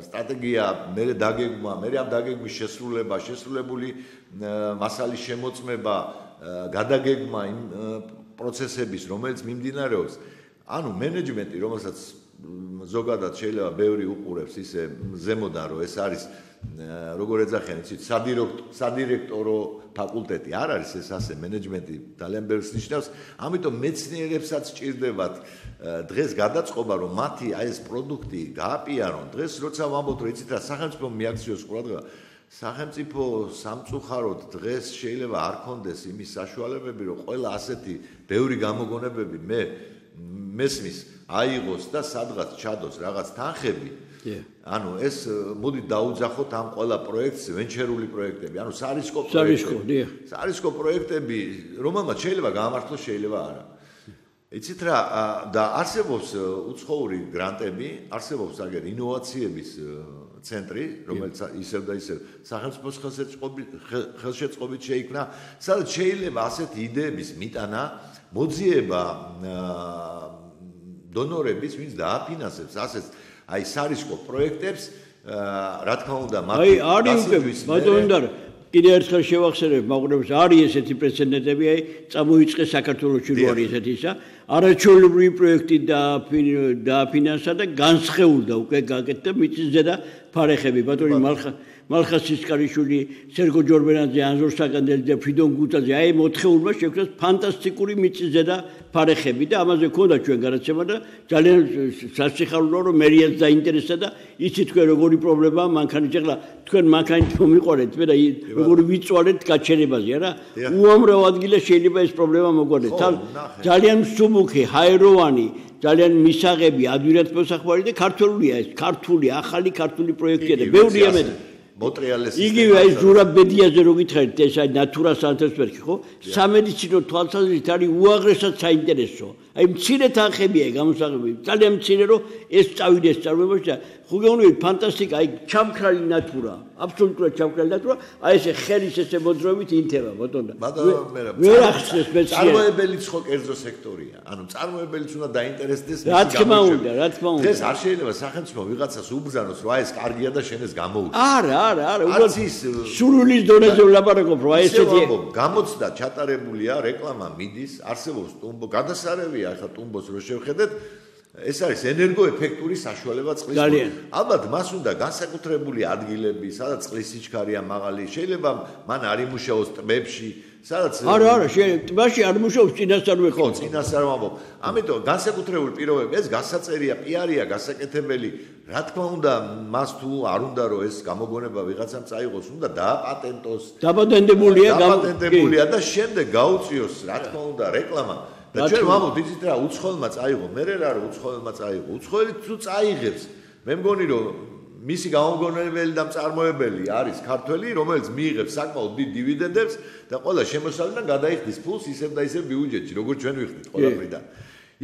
სტრატეგია, მე დაგეგმა, მე ამ დაგეგმის შესრულება, შესრულებული მასალის შემოწმება, გადაგეგმა იმ პროცესების, რომელიც მიმდინარეობს. ანუ მენეჯმენტი, რომელსაც ზოგადად შეიძლება ბევრი უყურებს ისე ზემოდან, რომ ეს არის როგორ ეძახიან, იცით, სადირექტორო ფაკულტეტი არ არის ეს ასე მენეჯმენტი ძალიან ბევრს ნიშნავს, ამიტომ მეცნიერებსაც სჭირდებათ დღეს გადაწყობა, რომ მათი აი ეს პროდუქტი გააპიარონ. დღეს როცა ვამბობთ, რომ იცით რა, სახელმწიფო მიაქციოს ყურადღება, სახელმწიფო სამწუხაროდ დღეს შეიძლება არ ქონდეს იმის საშუალებები, რომ ყველა ასეთი ბევრი გამოგონებები მესმის აიღოს და სადღაც ჩადოს რაღაც თანხები. ანუ ეს მოდი დაუძახოთ ამ ყველა პროექტს, ვენჩერული პროექტები, ანუ სარისკო პროექტები, რომელმაც შეიძლება გაამართლოს, შეიძლება არა. იცით რა, და არსებობს უცხოური გრანტები, არსებობს აგერ ინოვაციების ცენტრი, რომელიც ისევ და ისევ სახელმწიფოს ხელშეწყობით შეიქმნა, სადაც შეიძლება ასეთი იდეების მიტანა, მოძიება დონორების, ვინც დააფინანსებს ასეთ აი სარისკო პროექტებს, რა თქმა უნდა, ბატონო კიდე ერთხელ შევახსენებ მაყურებს არის ესეთი პრეცედენტები აი წამოიწყეს საქართველოში რო არის ესეთისა არაჩვეულებრივი პროექტი დააფინანსა და განსხეულდა უკვე გაკეთდა მიწის ზედა ფარეხები ბატონი მალხა სისკარიშვილი სერგო ჯორბენაძე ანზორ საკანდელი და ფრიდონ გუტაძე აი მოთხეულმა შექმნეს ფანტასტიკური მიწის ზედა ფარეხები და ამაზე ქონდა ჩვენ განაცემა და ძალიან სასიხარულოა რომ მერიაც დაინტერესდა და იცით თქვენ როგორი პრობლემაა მანქანით ახლა თქვენ მანქანით მომიყარეთ მე და როგორი ვიწვალეთ გაჩერებაზე არა უამრავ ადგილას შეიძლება ეს პრობლემა მოგვარდეთ ძალიან მსუბუქი ჰაეროვანი ძალიან მისაღები ადვირად მოსახვარი და ქართულია ეს ქართული ახალი ქართული პროექტია და ბევრია მე მოტრიალეს იგივე აი ზურაბედიაზე რო გითხარით ეს აი ნატურა სანტესბერგი ხო სამედიცინო თვალსაზრისით არის უაღრესად საინტერესო აი მცირე თანხებია გამოსაღები ძალიან მცირე რომ ეს წავიდეს წარმოებაში და ხუგეუნები ფანტასტიკა აი ჩამქრალი ნატურა აბსოლუტურად ჩამქრალი ნატურა აი ესე ხელის ესე მოძრაობით ინთება ბატონო ვერ ახსნეს მეცნიერ წარმოებელიც ხო კერძო სექტორია ანუ წარმოებელიც უნდა დაინტერესდეს რა თქმა უნდა დღეს არ შეიძლება სახელმწიფო ვიღაცას უბრძანოს რომ აი ეს კარგია და შენ ეს გამოუჩნდა არა უბრალოდ სურვილის დონეზე ვლაპარაკობ რომ აი ესეთი გამოცდა ჩატარებულია რეკლამა მიდის არსებობს ტუმბო გადასარევია ახლა ტუმბოს რო შევხედეთ ეს არის ენერგოეფექტური საშუალება წყლის ალბათ მას უნდა განსაკუთრებული ადგილები სადაც წყლის სიჩქარეა მაღალი შეიძლება მან არ იმუშაოს ტბებში სადაც არა შეიძლება ტბაში არ მუშაობს წინასწარ ხო წინასწარ ვამბობ ამიტომ განსაკუთრებული პირობები ეს გასაწერია პიარია გასაკეთებელი რა თქმა უნდა მას თუ არ უნდა რომ ეს გამოგონება ვიღაცამ წაიღოს უნდა დააპატენტოს დაპატენტებულია და შემდეგ გაუწიოს რა თქმა უნდა რეკლამა და ჩვენ ვამბობთ იცით რა უცხოელმა წაიღო მე რა რომ უცხოელმა წაიღო უცხოელი თუ წაიღებს მე მგონი რომ მისი გამოგონებელი და მწარმოებელი არის ქართველი რომელიც მიიღებს საკმაოდ დიდ დივიდენდებს და ყველა შემოსავლიდან გადაიხდის ფულს ისევ და ისევ ბიუჯეტში როგორც ჩვენ ვიხდით ყველაფრიდან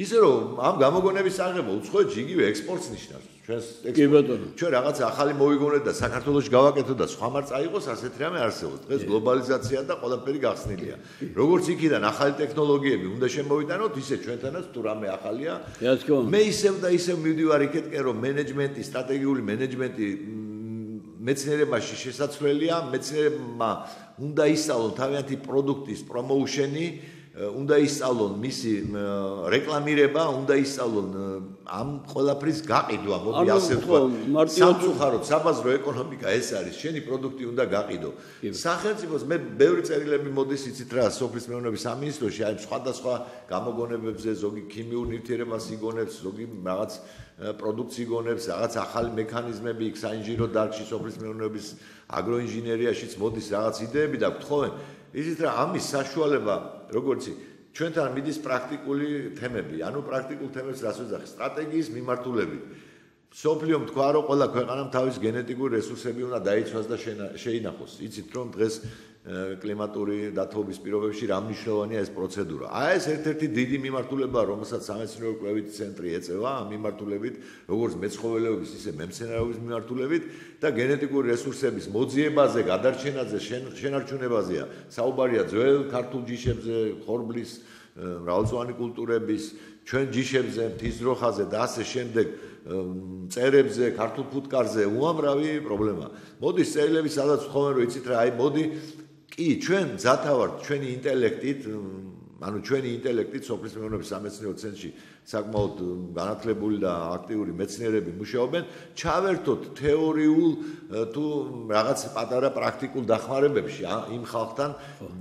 ისე რომ ამ გამოგონების აღება უცხოეთში იგივე ექსპორტს ნიშნავს ჩვენ რაღაცა ახალი მოვიგონეთ და საქართველოში გავაკეთოთ და სხვა მარ წაიღოს ასეთ რამე არსებობს დღეს გლობალიზაცია და ყველაფერი გახსნილია როგორც იქიდან ახალი ტექნოლოგიები უნდა შემოვიტანოთ ისე ჩვენთანაც თუ რამე ახალია მე ისევ და ისევ მივდივარ იქეთკენ რომ მენეჯმენტი სტრატეგიული მენეჯმენტი მეცნიერებაში შესაძლებელია მეცნიერებმა უნდა ისწავლონ თავიანთი პროდუქტის პრომოუშენი უნდა ისწავლონ მისი რეკლამირება, უნდა ისწავლონ ამ ყველაფრის გაყიდვა, მოდი ასე ვთქვა. სამწუხაროდ საბაზრო ეკონომიკა ეს არის, შენი პროდუქტი უნდა გაყიდო. სახელმწიფოს მე ბევრი წერილები მოდის იცით რა, სოფლის მეურნეობის სამინისტროში, აი სხვადასხვა გამოგონებებზე, ზოგი ქიმიურ ნივთიერებას იგონებს, ზოგი რაღაც პროდუქტს იგონებს, რაღაც ახალი მექანიზმები იქ საინჟინრო დარგში, სოფლის მეურნეობის აგროინჟინერიაშიც მოდის რაღაც იდეები და გთხოვენ იცით რა ამის საშუალება როგორც ჩვენთან მიდის პრაქტიკული თემები ანუ პრაქტიკულ თემებს რას ვეძახი სტრატეგიის მიმართულებით სოფლიომ თქვა რომ ყველა ქვეყანამ თავის გენეტიკური რესურსები უნდა დაიცვას და შეინახოს იცით რომ დღეს კლიმატური დათბობის პირობებში რა მნიშვნელოვანია ეს პროცედურა აი ეს ერთ-ერთი დიდი მიმართულებაა რომელსაც სამეცნიერო კვლევითი ცენტრი ეწევა ამ მიმართულებით როგორც მეცხოველეობის ისე მემცენარეობის მიმართულებით და გენეტიკური რესურსების მოძიებაზე, გადარჩენაზე, შენარჩუნებაზეა. საუბარია ძველ ქართულ ჯიშებზე, ხორბლის, მრავალწლოვანი კულტურების, ჩვენ ჯიშებზე, მთისძროხაზე და ასე შემდეგ წერებზე, ქართულ ფუტკარზე უამრავი პრობლემა. მოდის წერილები სადაც ვთხოვენ რომ იცით რა, აი მოდი კი ჩვენ ძათავართ ჩვენი ინტელექტით ანუ ჩვენი ინტელექტით სოფლის მეურნეობის სამეცნიერო ცენტრში საკმაოდ განათლებული და აქტიური მეცნიერები მუშაობენ ჩავერთოთ თეორიულ თუ რაღაც პატარა პრაქტიკულ დახმარებებში იმ ხალხთან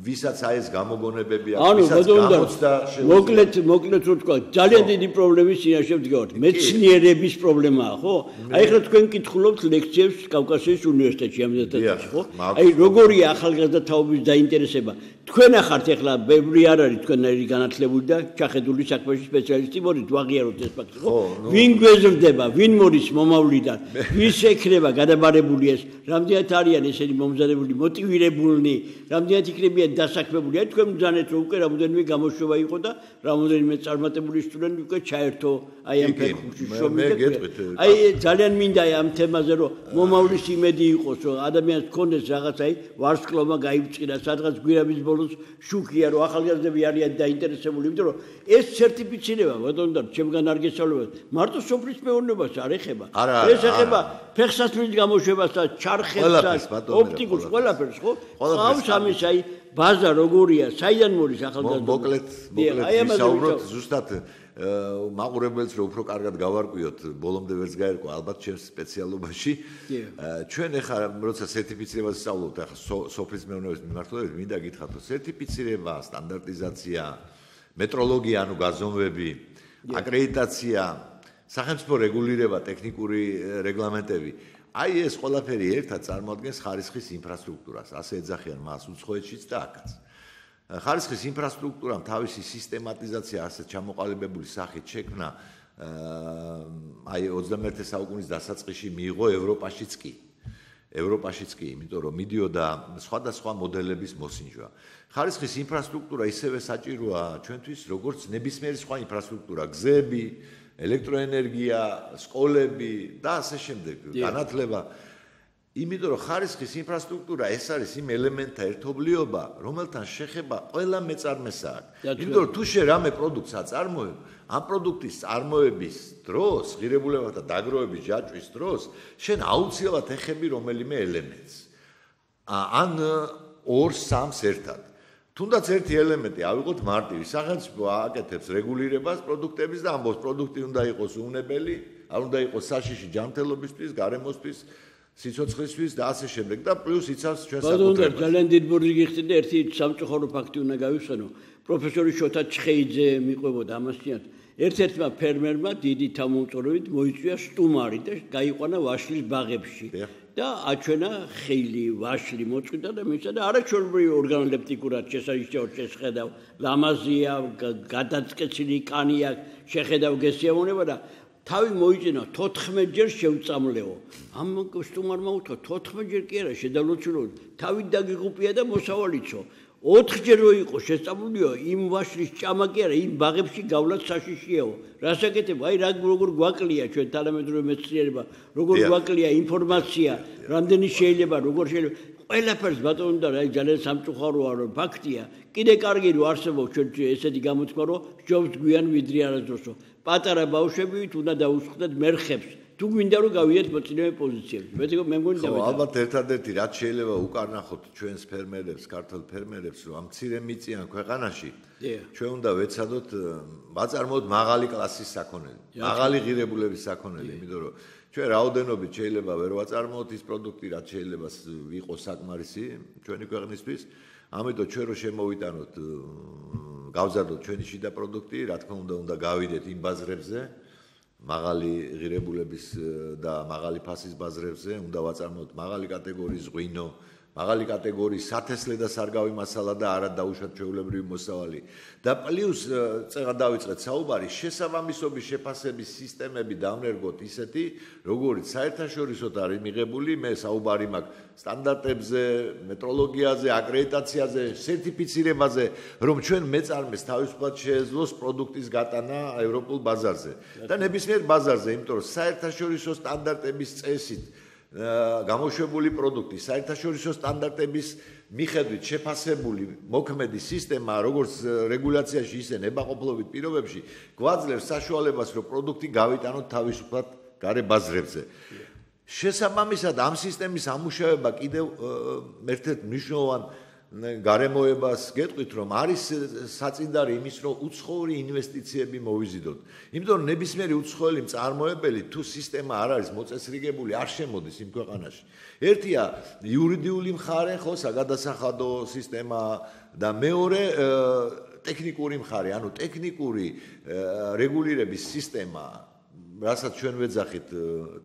ვისაც აი ეს გამოგონებები აქვს ვისაც გამოცდა მოკლედ რო თქვა ძალიან დიდი პრობლემის წინაშე ვდგავართ მეცნიერების პრობლემაა ხო აი ახლა თქვენ კითხულობთ ლექციებს კავკასიის უნივერსიტეტში ამ ზედაპირში ხო აი როგორია ახალგაზრდა თაობის დაინტერესება თქვენ ახართ ახლა ბევრი არ არის თქვენერი განათლებული და ჩახედული საქმეში სპეციალისტი მოდით ვაღიაროთ ეს ფაქტი, ხო? ვინ გვეზრდება, ვინ მოდის მომავლიდან, ვის ეკრება გადაბარებული ეს, რამდენად არიან ესენი მომზადებული, მოტივირებულნი, რამდენად იქნებიან დასაქმებული. აი თქვენ მძანეთ, რომ უკვე რამოდენიმე გამოშვება იყო და რამოდენიმე წარმატებული სტუდენტი უკვე ჩაერთო აი ამ ფეხბურთში შრომით. აი ძალიან მინდა ამ თემაზე რომ მომავლის იმედი იყოს, რომ ადამიანს ჰქონდეს რაღაც აი ვარსკვლავმა გაიბწყირა, სადღაც გვირაბის ბოლოს შუქია, რომ ახალგაზრდები არიან დაინტერესებული, იმიტომ რომ ეს სერტიფიცირება, ბატონო და ჩემგან არ გესწავლება, მარტო სოფლის მეურნეობას არ ეხება. ეს ეხება ფეხსაცმლის გამოშვებას და ჩარხებს და ოპტიკურს, ყველაფერს, ხო? ყავს ამის აი ბაზა როგორია, საიდან მოდის ახალგაზრდა? მოკლედ ვისაუბროთ ზუსტად მაყურებელს რომ უფრო კარგად გავარკვიოთ, ბოლომდე ვერც გაერკვა ალბათ ჩემს სპეციალობაში. ჩვენ ახლა როცა სერტიფიცირებას ვსწავლობთ, ახლა სოფლის მეურნეობის მიმართულებით მინდა გითხრათ, რომ სერტიფიცირება, სტანდარტიზაცია, მეტროლოგია, ანუ გაზომვები, აკრედიტაცია, სახელმწიფო რეგულირება, ტექნიკური რეგლამენტები, აი ეს ყველაფერი ერთად წარმოადგენს ხარისხის ინფრასტრუქტურას, ასე ეძახიან მას უცხოეთშიც და აქაც. ხარისხის ინფრასტრუქტურამ თავისი სისტემატიზაცია ასე ჩამოყალიბებული სახით შექმნა აი 21 საუკუნის დასაწყისში მიიღო ევროპაშიც კი. ევროპაშიც კი, იმიტომ რომ მიდიოდა სხვადასხვა მოდელების მოსინჯვა. ხარისხის ინფრასტრუქტურა ისევე საჭიროა ჩვენთვის, როგორც ნებისმიერი სხვა ინფრასტრუქტურა, გზები, ელექტროენერგია, სკოლები და ასე შემდეგ, განათლება. იმიტომ რომ ხარისხის ინფრასტრუქტურა ეს არის იმ ელემენტთა ერთობლიობა, რომელთან შეხება ყველა მეწარმეს აქვს. იმიტომ რომ თუ შე რამე პროდუქტს აწარმოებ, ამ პროდუქტის წარმოების დროს, ღირებულებათა დაგროვების ჯაჭვის დროს, შენ აუცილებლად ეხები რომელიმე ელემენტს. ან 2-3 ერთად. თუნდაც ერთი ელემენტი ავიღოთ მარტივი, სახელმწიფო ააკეთებს რეგულირებას პროდუქტების და ამბობს პროდუქტი უნდა იყოს უნებელი, არ უნდა იყოს საშიში ჯანმრთელობისთვის, გარემოსთვის, სიცოცხლისთვის და ასე შემდეგ და პლუს იცავს ჩვენ საკუთრებას. ძალიან დიდ ბურთი გიხდიდა, ერთი სამწუხარო ფაქტი უნდა გავიხსენო. პროფესორი შოთა ჩხეიძე მიყვებოდა ამასთანავე. ერთ-ერთმა ფერმერმა დიდი თავმომწორებით მოიწვია სტუმარი და გაიყვანა ვაშლის ბაღებში. და აჩვენა ხილი, ვაშლი მოწყვიტა და მისცა და არაჩვეულებრივი ორგანოლეპტიკურად შესანიშნავად შეხედავ, ლამაზია, გადაწკეცილი კანი აქვს, შეხედავ გესიამონება და თავი მოიჭინა 14 ჯერ შევწამლეო. ამ სტუმარმა უთქვა 14 ჯერ კი არა შედავლოცულო, თავი დაგიღუპია და მოსავალიცო. 4 ჯერ რო იყო შესწავლულიო, იმ ვაშლის ჭამა კი არა, იმ ბაღებში გავლაც საშიშიაო. რასაკეთებ? აი როგორ გვაკლია ჩვენ თანამედროვე მეცნიერება, როგორ გვაკლია ინფორმაცია, რამდენი შეიძლება, როგორ შეიძლება. ყველაფერს ბატონო და აი ძალიან სამწუხაროა რომ ფაქტია. კიდე კარგი რომ არსებობს ჩვენ ესეთი გამოთქმა რომ ჯობს გვიან ვიდრე არასდროსო. პატარა ბავშვებით უნდა დაუსხდეთ მერხებს. თუ გვინდა რომ გავიდეთ მოწინავე პოზიციებში. მე მგონი დავიწყო. ალბათ ერთადერთი რაც შეიძლება უკარნახოთ ჩვენს ფერმერებს, ქართულ ფერმერებს, რომ ამ მცირე მიწიან ქვეყანაში ჩვენ უნდა ვეცადოთ ვაწარმოოთ მაღალი კლასის საქონელი, მაღალი ღირებულების საქონელი, იმიტომ რომ ჩვენ რაოდენობით შეიძლება ვერ ვაწარმოოთ ის პროდუქტი, რაც შეიძლება იყოს საკმარისი ჩვენი ქვეყნისთვის. ამიტომ ჩვენ რო შემოვიტანოთ, გავზარდოთ ჩვენი შიდა პროდუქტი, რა თქმა უნდა გავიდეთ იმ ბაზრებზე, მაღალი ღირებულების და მაღალი ფასის ბაზრებზე, უნდა ვაწარმოოთ მაღალი კატეგორიის ღვინო, მაღალი კატეგორიის სათესლე და სარგავი მასალა და არა დაუშვათ ჩვეულებრივი მოსავალი. და პლუს წეღა დავიწყეთ საუბარი, შესაბამისობის შეფასების სისტემები დავნერგოთ ისეთი, როგორიც საერთაშორისოდ არის მიღებული, მე საუბარი მაქვს სტანდარტებზე, მეტროლოგიაზე, აკრედიტაციაზე, სერტიფიცირებაზე, რომ ჩვენ მეწარმეს თავისუფლად შეეძლოს პროდუქტის გატანა ევროპულ ბაზარზე. და ნებისმიერ ბაზარზე, იმიტომ რომ საერთაშორისო სტანდარტების წესით გამოშვებული პროდუქტი, საერთაშორისო სტანდარტების მიხედვით შეფასებული მოქმედი სისტემა, როგორც რეგულაციაში, ისე ნებაყოფლობით პირობებში, გვაძლევს საშუალებას, რომ პროდუქტი გავიტანოთ თავისუფლად გარე ბაზრებზე. შესაბამისად, ამ სისტემის ამუშავება კიდევ ერთ-ერთ მნიშვნელოვან გარემოებას გეტყვით, რომ არის საწინდარი იმის, რომ უცხოური ინვესტიციები მოვიზიდოთ. იმიტომ რომ ნებისმიერი უცხოელი მწარმოებელი თუ სისტემა არ არის მოწესრიგებული, არ შემოდის იმ ქვეყანაში. ერთია იურიდიული მხარე, ხო, საგადასახადო სისტემა და მეორე ტექნიკური მხარე, ანუ ტექნიკური რეგულირების სისტემა რასაც ჩვენ ვეძახით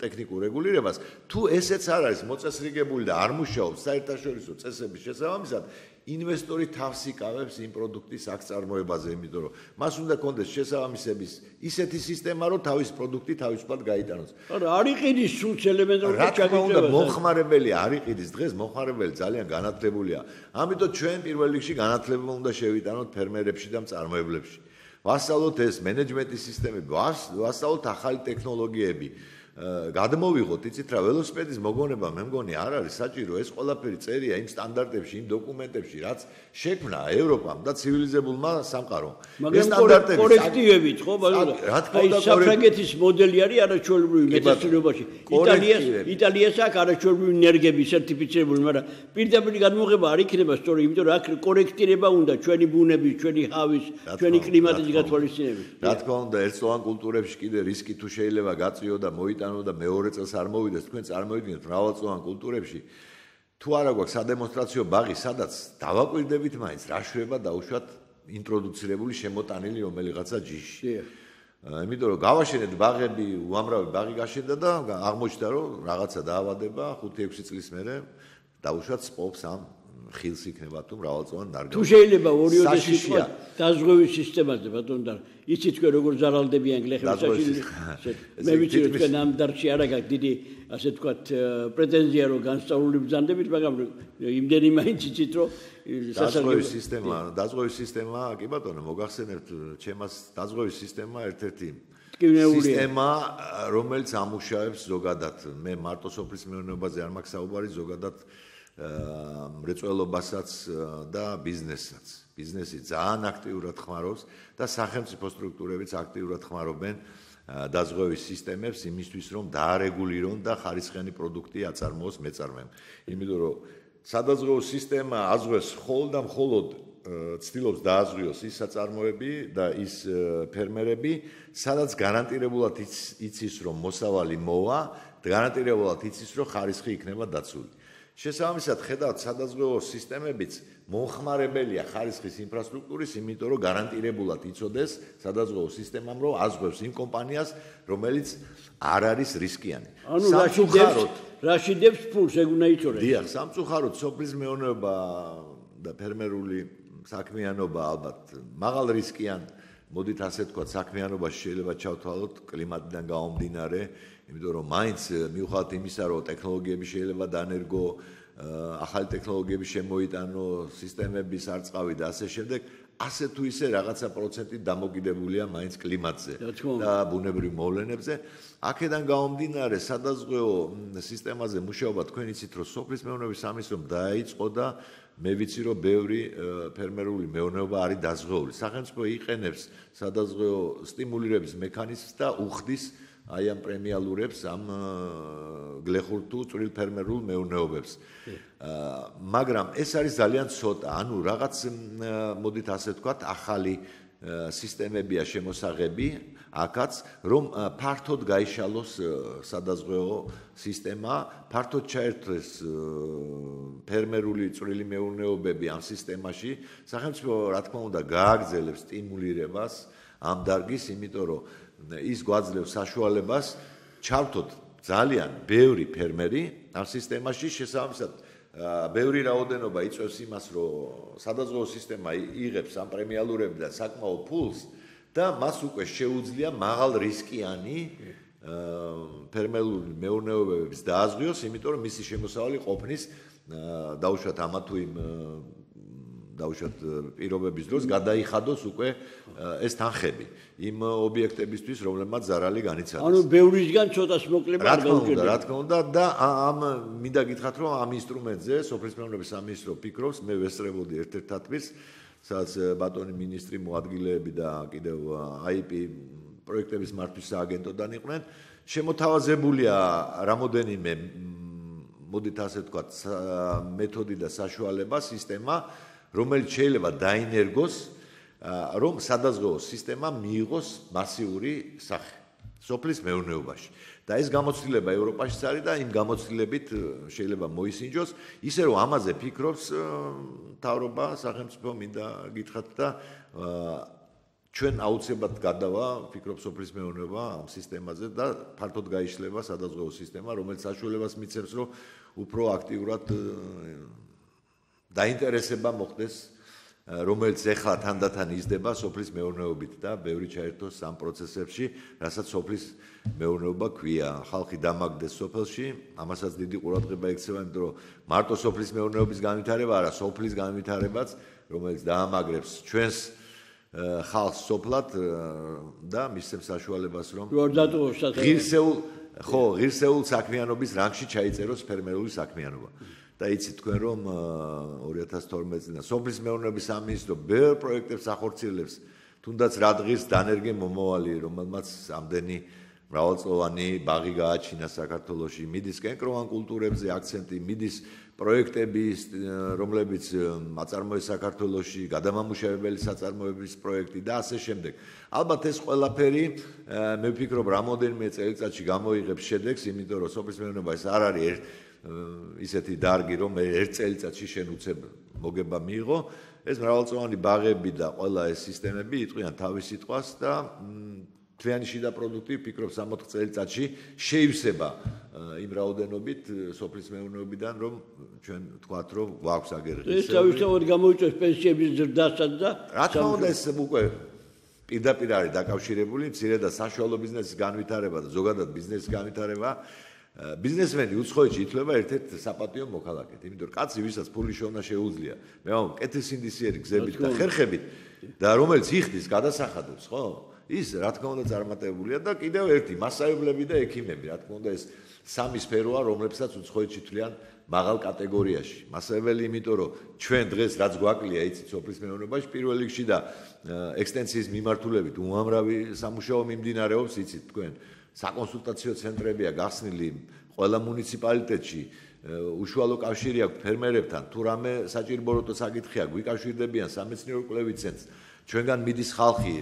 ტექნიკურ რეგულირებას, თუ ესეც არ არის მოწესრიგებული და არ მუშაობს საერთაშორისო წესების შესაბამისად, ინვესტორი თავს იკავებს იმ პროდუქტის აქწარმოებაზე, იმიტომ რომ მას უნდა კონდეს შესაბამისების ისეთი სისტემა, რომ თავის პროდუქტი თავისუფლად გაიტანოს. არა, არ იყიდის სულს ელემენტური ჩაგიწევა. მომხმარებელი არ იყიდის დღეს, მომხმარებელი ძალიან განათლებულია. ამიტომ ჩვენ პირველ რიგში განათლება უნდა შევიტანოთ ფერმერებში და მწარმოებლებში. ვასწავლოთ ეს მენეჯმენტის სისტემები, ვასწავლოთ ახალი ტექნოლოგიები. გადმოვიღოთ, იცით რა, ველოსიპედის მოგონება მე მგონი არ არის საჭირო, ეს ყველაფერი წერია იმ სტანდარტებში, იმ დოკუმენტებში, რაც შექმნა ევროპამ და ცივილიზებულმა სამყარომ. ეს სტანდარტები კორექტივებით, ხო, ბაზარზე. აი საფრანგეთის მოდელი არის არაჩვეულებრივი მეცნიერებაში. იტალიას აქვს არაჩვეულებრივი ნერგები სერტიფიცირებული, მაგრამ პირდაპირ გადმოღება არ იქნება სწორი, იმიტომ რომ აქ კორექტირება უნდა ჩვენი ბუნების, ჩვენი ჰავის, ჩვენი კლიმატის გათვალისწინებით. რა თქმა უნდა, ერთწლოვან კულტურებში კიდე რისკი თუ შეიძლება გაწიო და და მეორე წელს არ მოვიდეს, თქვენ წარმოვიდგინეთ მრავალწლოვან კულტურებში. თუ არა გვაქვს სადემონსტრაციო ბაღი, სადაც დავაკვირდებით მაინც რა შვება დაუშვათ ინტროდუცირებული შემოტანილი რომელიღაცა ჯიში. იმიტომ რომ გავაშენეთ ბაღები, უამრავი ბაღი გაშენდა და აღმოჩნდა რომ რაღაცა დაავადება 5-6 წლის მერე დაუშვათ სპობს ამ ხილს იქნება თუ მრავალწლოვან ნარგავი. თუ შეიძლება ორიოდე სიტყვა დაზღვევის სისტემაზე ბატონო და იცით თქვენ როგორ ზარალდებიან გლეხები მე ვიცი რომ თქვენ ამ დარგში არ აქვს დიდი ასე ვთქვათ პრეტენზია რომ განსწავლული ბრძანდებით, მაგრამ იმდენი მაინც იცით რომ დაზღვევის სისტემა კი ბატონო მოგახსენებთ ჩემას დაზღვევის სისტემა ერთ-ერთი სისტემა რომელიც ამუშავებს ზოგადად მე მარტო სოფლის მეურნეობაზე არ მაქვს საუბარი ზოგადად მრეწველობასაც და ბიზნესსაც. ბიზნესი ძალიან აქტიურად ხმარობს და სახელმწიფო სტრუქტურებიც აქტიურად ხმარობენ დაზღვევის სისტემებს იმისთვის რომ დაარეგულირონ და ხარისხიანი პროდუქტი აწარმოოს მეწარმემ. იმიტომ რომ სადაზღვეო სისტემა აზღვევს მხოლოდ და მხოლოდ ცდილობს დააზღვიოს ის საწარმოები და ის ფერმერები, სადაც გარანტირებულად იცის რომ მოსავალი მოვა, გარანტირებულად იცის რომ ხარისხი იქნება დაცული. შესაბამისად, ხედავთ სადაზღვეო სისტემებიც მომხმარებელია ხარისხის ინფრასტრუქტურის, იმიტომ რომ გარანტირებულად იცოდეს სადაზღვეო სისტემამ, რომ აზღვევს იმ კომპანიას, რომელიც არ არის რისკიანი. ანუ რაშიდებს ფულს ეგ უნდა იცოდეს. დიახ, სამწუხაროდ სოფლის მეურნეობა და ფერმერული საქმიანობა ალბათ მაღალ რისკიან, მოდით ასე თქვა, საქმიანობაში შეიძლება ჩავთვალოთ კლიმატიდან გამომდინარე, იმიტომ რომ მაინც მიუხედავად იმისა, რომ ტექნოლოგიები შეიძლება დაანერგო, ახალი ტექნოლოგიები შემოიტანო, სისტემების არწყავი და ასე შემდეგ, ასე თუ ისე რაღაცა პროცენტით დამოკიდებულია მაინც კლიმატზე და ბუნებრივ მოვლენებზე. აქედან გამომდინარე, სადაზღვეო სისტემაზე მუშაობა თქვენ იცით, რომ სოფლის მეურნეობის სამინისტრომ დაიწყო და მე ვიცი, რომ ბევრი ფერმერული მეურნეობა არის დაზღვეული. სახელმწიფო იყენებს სადაზღვეო სტიმულირების მექანიზმს და უხდის აი ამ პრემიალურებს ამ გლეხურ თუ წვრილ ფერმერულ მეურნეობებს. მაგრამ ეს არის ძალიან ცოტა, ანუ რაღაც მოდით ასე ვთქვათ, ახალი სისტემებია შემოსაღები, აქაც რომ ფართოდ გაიშალოს სადაზღვეო სისტემა, ფართოდ ჩაერთვეს ფერმერული წვრილი მეურნეობები ამ სისტემაში. სახელმწიფო რა თქმა უნდა გააგრძელებს სტიმულირებას ამ დარგის, იმიტომ რომ ის გვაძლევს საშუალებას ჩავთოთ ძალიან ბევრი ფერმერი ამ სისტემაში, შესაბამისად ბევრი რაოდენობა იწვევს იმას, რომ სადაზღვეო სისტემა იღებს ამ პრემიალურები და საკმაო ფულს და მას უკვე შეუძლია მაღალ რისკიანი ფერმერული მეურნეობების დააზღვიოს, იმიტომ რომ მისი შემოსავალი ყოფნის დაუშვათ ამა თუ იმ დაუშვათ პირობების დროს გადაიხადოს უკვე ეს თანხები იმ ობიექტებისთვის, რომლებმაც ზარალი განიცადეს. ანუ ბევრისგან ცოტას მოკლება არ გაუჭირდება. რა თქმა უნდა და ამ მინდა გითხრათ, რომ ამ ინსტრუმენტზე სოფლის მეურნეობის სამინისტრო ფიქრობს, მე ვესწრებოდი ერთ-ერთ თათბირს, სადაც ბატონი მინისტრი მოადგილეები და კიდევ IP პროექტების მართვის სააგენტოდან იყვნენ. შემოთავაზებულია რამოდენიმე მოდით ასე ვთქვათ, მეთოდი და საშუალება, სისტემა, რომელიც შეიძლება დაინერგოს, რომ სადაზღვეო სისტემა მიიღოს მასიური სახე სოფლის მეურნეობაში. და ეს გამოცდილება ევროპაშიც არის და იმ გამოცდილებით შეიძლება მოისინჯოს, ისე რომ ამაზე ფიქრობს მთავრობა, სახელმწიფო მინდა გითხრათ და ჩვენ აუცილებლად გადავა, ფიქრობ სოფლის მეურნეობა ამ სისტემაზე და ფართოდ გაიშლება სადაზღვევო სისტემა, რომელიც საშუალებას მიცემს, რომ უფრო აქტიურად დაინტერესება მოხდეს, რომელიც ეხლა თანდათან იზრდება სოფლის მეურნეობით და ბევრი ჩაერთოს ამ პროცესებში, რასაც სოფლის მეურნეობა ქვია. ხალხი დამაგდეს სოფელში, ამასაც დიდი ყურადღება ექცევა, იმიტომ რომ მარტო სოფლის მეურნეობის განვითარება არა, სოფლის განვითარებაც, რომელიც დაამაგრებს ჩვენს ხალხს სოფლად და მისცემს საშუალებას, რომ ღირსეულ საქმიანობის რანგში ჩაიწეროს ფერმერული საქმიანობა. და იცით თქვენ რომ 2012 წლიდან სოფლის მეურნეობის სამინისტრო ბევრ პროექტებს ახორციელებს, თუნდაც რადღირს დანერგე მომავალი, რომელმაც ამდენი მრავალწლოვანი ბაღი გააჩინა საქართველოში, მიდის კენკროვან კულტურებზე აქცენტი, მიდის პროექტები, რომლებიც აწარმოეს საქართველოში, გადამამუშავებელი საწარმოების პროექტი და ასე შემდეგ. ალბათ ეს ყველაფერი მე ვფიქრობ რამოდენიმე წელიწადში გამოიღებს შედეგს, იმიტომ რომ სოფლის მეურნეობა ეს არ არის ისეთი დარგი, რომ ერთ წელიწადში შენ უცებ მოგება მიიღო, ეს მრავალწლოვანი ბაღები და ყველა ეს სისტემები იტყვიან თავის სიტყვას და თლიანი შიდა პროდუქტი ვფიქრობ 60 წელიწადში შეივსება იმ რაოდენობით სოფლის მეურნეობიდან, რომ ჩვენ ვთქვათ, რომ გვაქვს აგერღი. ეს თავისთავად გამოიწვევს პენსიების ზრდასაც და რა თქმა უნდა ეს უკვე პირდაპირ არის დაკავშირებული მცირე და საშუალო ბიზნესის განვითარება და ზოგადად ბიზნესის განვითარება. ბიზნესმენი უცხოეთში ითვლება ერთ-ერთ საპატიო მოქალაქედ, იმიტომ რომ კაცი, ვისაც ფული შოვნა შეუძლია, მე ვამბობ, კეთილსინდისიერი გზებით და ხერხებით და რომელიც იხდის, გადასახადებს, ხო? ის რა თქმა უნდა წარმატებულია და კიდევ ერთი მასწავლებლები და ექიმები, რა თქმა უნდა ეს სამი სფეროა, რომლებსაც უცხოეთში თვლიან მაღალ კატეგორიაში. მასწავლებელი, იმიტომ რომ ჩვენ დღეს რაც გვაკლია, იცით, სოფლის მეურნეობაში პირველ რიგში და ექსტენსიის მიმართულებით უამრავი სამუშაო მიმდინარეობს, იცით, თქვენ საკონსულტაციო ცენტრებია გახსნილი ყველა მუნიციპალიტეტში, უშუალო კავშირი აქვს ფერმერებთან, თუ რამე საჭიროებო საკითხია, გვიკავშირდებიან სამეცნიერო კვლევით ცენტრს, ჩვენგან მიდის ხალხი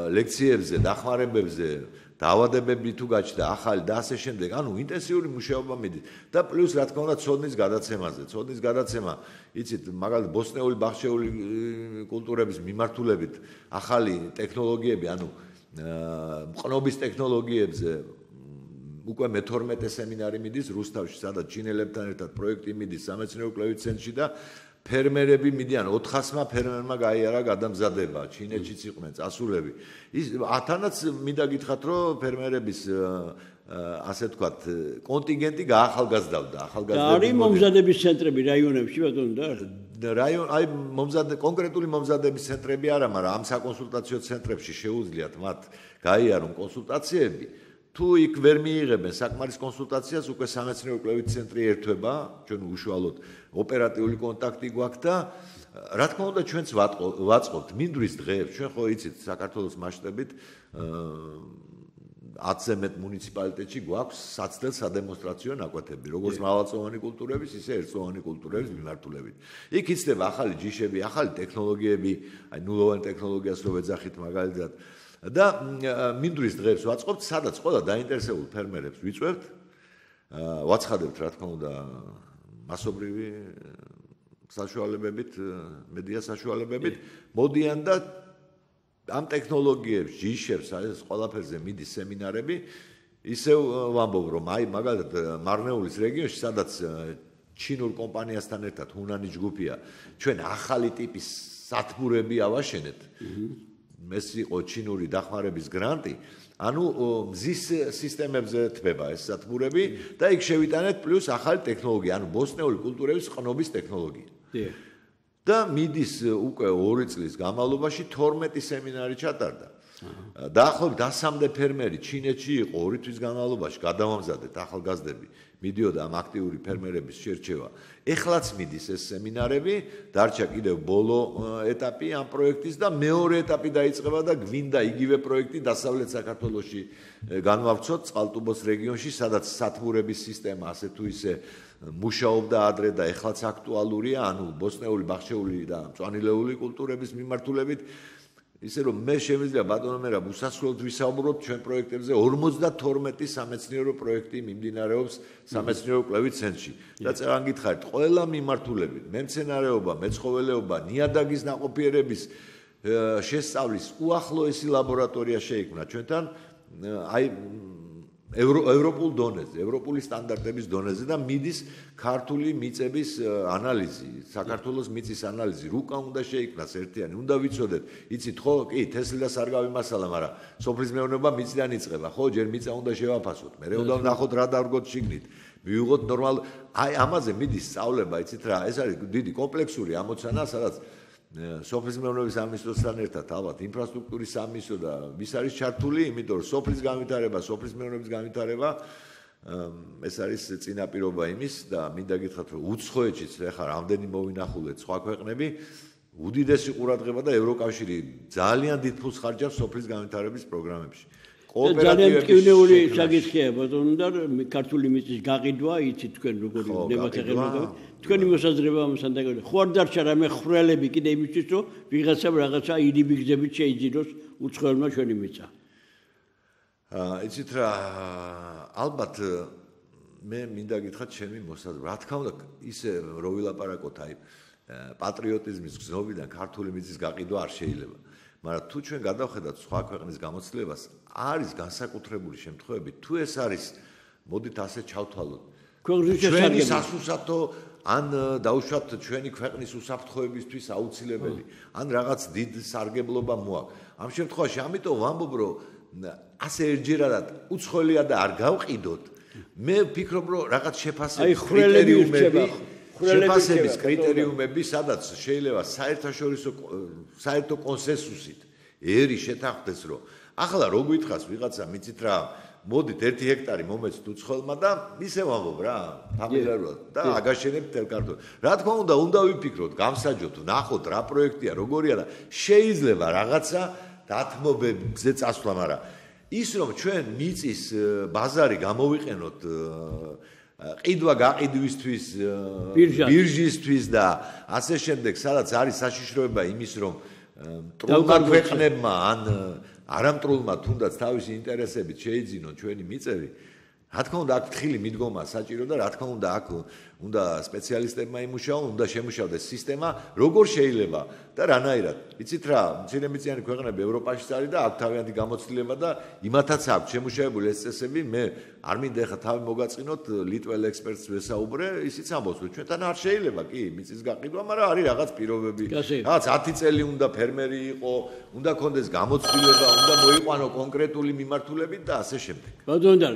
ლექციებზე, დახმარებებზე, დაავადებები თუ გაჩნდა, ახალი და ასე შემდეგ, ანუ ინტენსიური მუშაობა მიდის და პლუს რა თქმა უნდა ცოდნის გადაცემაზე. ცოდნის გადაცემა, იცით, მაგალითად ბოსტნეული ბაღშეული კულტურების მიმართულებით ახალი ტექნოლოგიები, ანუ მყნობის ტექნოლოგიებზე უკვე მე-12 სემინარი მიდის რუსთავში, სადაც ჩინელებთან ერთად პროექტი მიდის სამეცნიერო კვლევით ცენტრში და ფერმერები მიდიან 400-მა ფერმერმა გაიარა გადამზადება, ჩინეთშიც იყვნენ წასულები. ის ათანაც მინდა გითხრათ, რომ ფერმერების ასე ვთქვათ, კონტინგენტი გაახალგაზრდავდა, ახალგაზრდები. არის მომზადების ცენტრები რაიონებში ბატონო და აი კონკრეტული მომზადების ცენტრები არა, მაგრამ ამ საკონსულტაციო ცენტრებში შეუძლიათ მათ გაიარონ კონსულტაციები. თუ იქ ვერ მიიღებენ საკმარის კონსულტაციას, უკვე სამეცნიერო კვლევით ცენტრი ერთვება, ჩვენ უშუალოდ ოპერატიული კონტაქტი გვაქვს და რა თქმა უნდა ჩვენც ვაწყობთ მინდვრის დღეებს, ჩვენ ხო იცით საქართველოს მასშტაბით 10-ზე მეტ მუნიციპალიტეტში გვაქვს საცდელ სადემონსტრაციო ნაკვეთები, როგორც მრავალწლოვანი კულტურების, ისე ერთწლოვანი კულტურების მიმართულებით. იქ იცდება ახალი ჯიშები, ახალი ტექნოლოგიები, აი ნულოვანი ტექნოლოგიას რო ვეძახით მაგალითად და მინდვრის დღეებს ვაწყობთ, სადაც ყველა დაინტერესებულ ფერმერებს ვიწვევთ, ვაცხადებთ რა თქმა უნდა მასობრივი საშუალებებით, მედია საშუალებებით, მოდიან და ამ ტექნოლოგიებს, ჯიშებს, ეს ყველაფერზე მიდის სემინარები, ისევ ვამბობ, რომ აი მაგალითად მარნეულის რეგიონში, სადაც ჩინურ კომპანიასთან ერთად ჰუნანის ჯგუფია, ჩვენ ახალი ტიპის სათბურები ავაშენეთ. ეს იყო ჩინური დახმარების გრანტი, ანუ მზის სისტემებზე თბება ეს სათბურები და იქ შევიტანეთ პლუს ახალი ტექნოლოგია, ანუ ბოსტნეული კულტურების ყნობის ტექნოლოგია. და მიდის უკვე 2 წლის განმავლობაში 12 სემინარი ჩატარდა. დაახლოებით 100-მდე ფერმერი ჩინეთში იყო 2 თვის განმავლობაში, გადავამზადეთ ახალგაზრდები, მიდიოდა ამ აქტიური ფერმერების შერჩევა. ეხლაც მიდის ეს სემინარები, დარჩა კიდევ ბოლო ეტაპი ამ პროექტის და მეორე ეტაპი დაიწყება და გვინდა იგივე პროექტი დასავლეთ საქართველოში განვავრცოთ წყალტუბოს რეგიონში, სადაც სათბურების სისტემა ასე თუ ისე მუშაობდა ადრე და ეხლაც აქტუალურია, ანუ ბოსტნეული, ბაღშეული და მწვანილეული კულტურების მიმართულებით. ისე რომ მე შემიძლია ბატონო მერაბ უსასრულოდ ვისაუბროთ ჩვენ პროექტებზე 52 სამეცნიერო პროექტი მიმდინარეობს სამეცნიერო კვლევით ცენტრში და წეგან გითხარით ყველა მიმართულებით მემცენარეობა, მეცხოველეობა, ნიადაგის ნაყოფიერების შესწავლის უახლოესი ლაბორატორია შეიქმნა ჩვენთან აი ევროპულ დონეზე, ევროპული სტანდარტების დონეზე და მიდის ქართული მიწების ანალიზი, საქართველოს მიწის ანალიზი, რუკა უნდა შეიქმნას ერთიანი, უნდა ვიცოდეთ, იცით ხო, კი, თესლი და სარგავი მასალა, მაგრამ სოფლის მეურნეობა მიწიდან იწყება, ხო, ჯერ მიწა უნდა შევაფასოთ, მე უნდა ვნახოთ რა დავდგოთ შიგნით, მივიღოთ ნორმალ, აი ამაზე მიდის სწავლება, იცით რა, ეს არის დიდი კომპლექსური ამოცანა, სადაც სოფლის მეურნეობის სამინისტროსთან ერთად ალბათ ინფრასტრუქტურის სამინისტრო და ვის არის ჩართული, იმიტომ რომ სოფლის განვითარება, სოფლის მეურნეობის განვითარება ეს არის წინაპირობა იმის და მინდა გითხრათ რომ უცხოეთშიც ახლა რამდენი მოვინახულეთ სხვა ქვეყნები უდიდესი ყურადღება და ევროკავშირი ძალიან დიდ ფულს ხარჯავს სოფლის განვითარების პროგრამებში. ძალიან მტკივნეული საკითხია ბატონო და ქართული მიწის გაყიდვა იცით თქვენ როგორი ნებათაღელობა თქვენი მოსაზრება ამასთან დაკავშირებით ხო არ დარჩა რამე ხვრელები კიდე იმისთვის რომ ვიღაცამ რაღაცა იდიბი გზებით შეიძინოს უცხოელმა ჩვენი მიწა იცით რა ალბათ მე მინდა გითხრათ ჩემი მოსაზრება რა თქმა უნდა ისე რო ვილაპარაკოთ აი პატრიოტიზმის გზნობიდან ქართული მიწის გაყიდვა არ შეიძლება მაგრამ თუ ჩვენ გადავხედავთ სხვა ქვეყნის გამოცდილებას არის განსაკუთრებული შემთხვევები თუ ეს არის მოდით ასე ჩავთვალოთ ჩვენი სასუსათო ან დაუშვათ ჩვენი ქვეყნის უსაფრთხოებისთვის აუცილებელი ან რაღაც დიდ სარგებლობა მოაქვს ამ შემთხვევაში ამიტომ ვამბობ რომ ასე ერთჯერადად უცხოელია და არ გავყიდოთ მე ვფიქრობ რომ რაღაც შეფასების კრიტერიუმები სადაც შეიძლება საერთო კონსენსუსით ერი შეთანხმდეს რომ ახლა რო გითხას ვიღაცა მიცით რა მოდით 1 ჰექტარი მომეცთ უცხოელმა და ისე ვამბობ რა ფამილიარულად და აგაშენებთ თელ ქართულ რა თქმა უნდა ვიფიქროთ გამსაჯოთ ნახოთ რა პროექტია როგორია და შეიძლება რაღაცა დათმობებზე წასვლა მაგრამ ის რომ ჩვენ მიწის ბაზარი გამოვიყენოთ ყიდვა გაყიდვისთვის ბირჟისთვის და ასე შემდეგ სადაც არის საშიშროება იმის რომ მტრულმა ქვეყნებმა ან არამტრულმა თუნდაც თავისი ინტერესებით შეიძინონ ჩვენი მიწები რა თქმა უნდა აქ თხილი მიდგომა საჭირო და რა თქმა უნდა აქ უნდა სპეციალისტებმა იმუშაონ უნდა შემუშავდეს სისტემა როგორ შეიძლება და რანაირად იცით რა მცირემიწიანი ქვეყნები ევროპაშიც არის და აქ თავიანთი გამოცდილება და იმათაც აქვს შემუშავებული ეს წესები მე არ მინდა ახლა თავი მოგაწყინოთ ლიტվել ექსპერტს ვესაუბრე ისიც ამბობს რომ ჩვენთან არ შეიძლება კი მიწის გაყიდვა მაგრამ არის რაღაც პირობები რაღაც 10 წელი უნდა ფერმერი იყო უნდა კონდეს გამოცდილება უნდა მოიყვანო კონკრეტული მიმართულებით და ასე შემდეგ ბატონო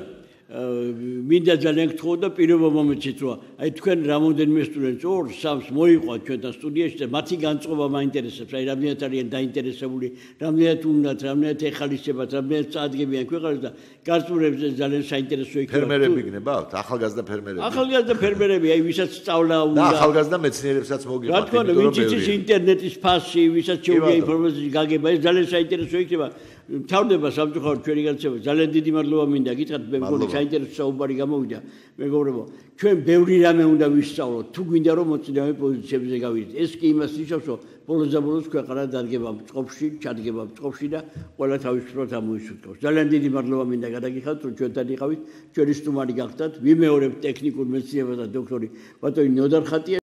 მინდა ძალიან გთხოვ და პირობა მომეცით რომ აი თქვენ რამოდენიმე სტუდენტს 2-3 მოიყვანთ ჩვენთან სტუდიაში და მათი განწყობა მაინტერესებს აი რამდენად არიან დაინტერესებული რამდენად უნდათ რამდენად ეხალისებათ რამდენად წაადგებიან ქვეყანას და გარწმუნებს ძალიან საინტერესო იქნება ფერმერები გნებავთ ახალგაზრდა ფერმერები აი ვისაც სწავლა უნდა და ახალგაზრდა მეცნიერებსაც მოგიყვანთ რა თქმა უნდა ვინც იცის ინტერნეტის ფასი ვისაც შეუძლია ინფორმაციის გაგება ეს ძალიან საინტერესო იქნება თავდება სამწუხაროდ ჩვენი განცემა ძალიან დიდი მადლობა მინდა გითხრათ მე მგონი საინტერესო საუბარი გამოვიდა მეგობრებო ჩვენ ბევრი რამე უნდა ვისწავლოთ თუ გვინდა რომ მოწინავე პოზიციებზე გავიდეთ ეს კი იმას ნიშნავს რომ ბოლოს ქვეყანა დადგება წყობაში ჩადგება წყობაში და ყველა თავისუფლად ამოისურვებს ძალიან დიდი მადლობა მინდა გადაგიხადოთ რომ ჩვენთან იყავით ჩვენი სტუმარი გახდათ ვიმეორებთ ტექნიკურ მეცნიერებათა დოქტორი ბატონი ნოდარ ხატია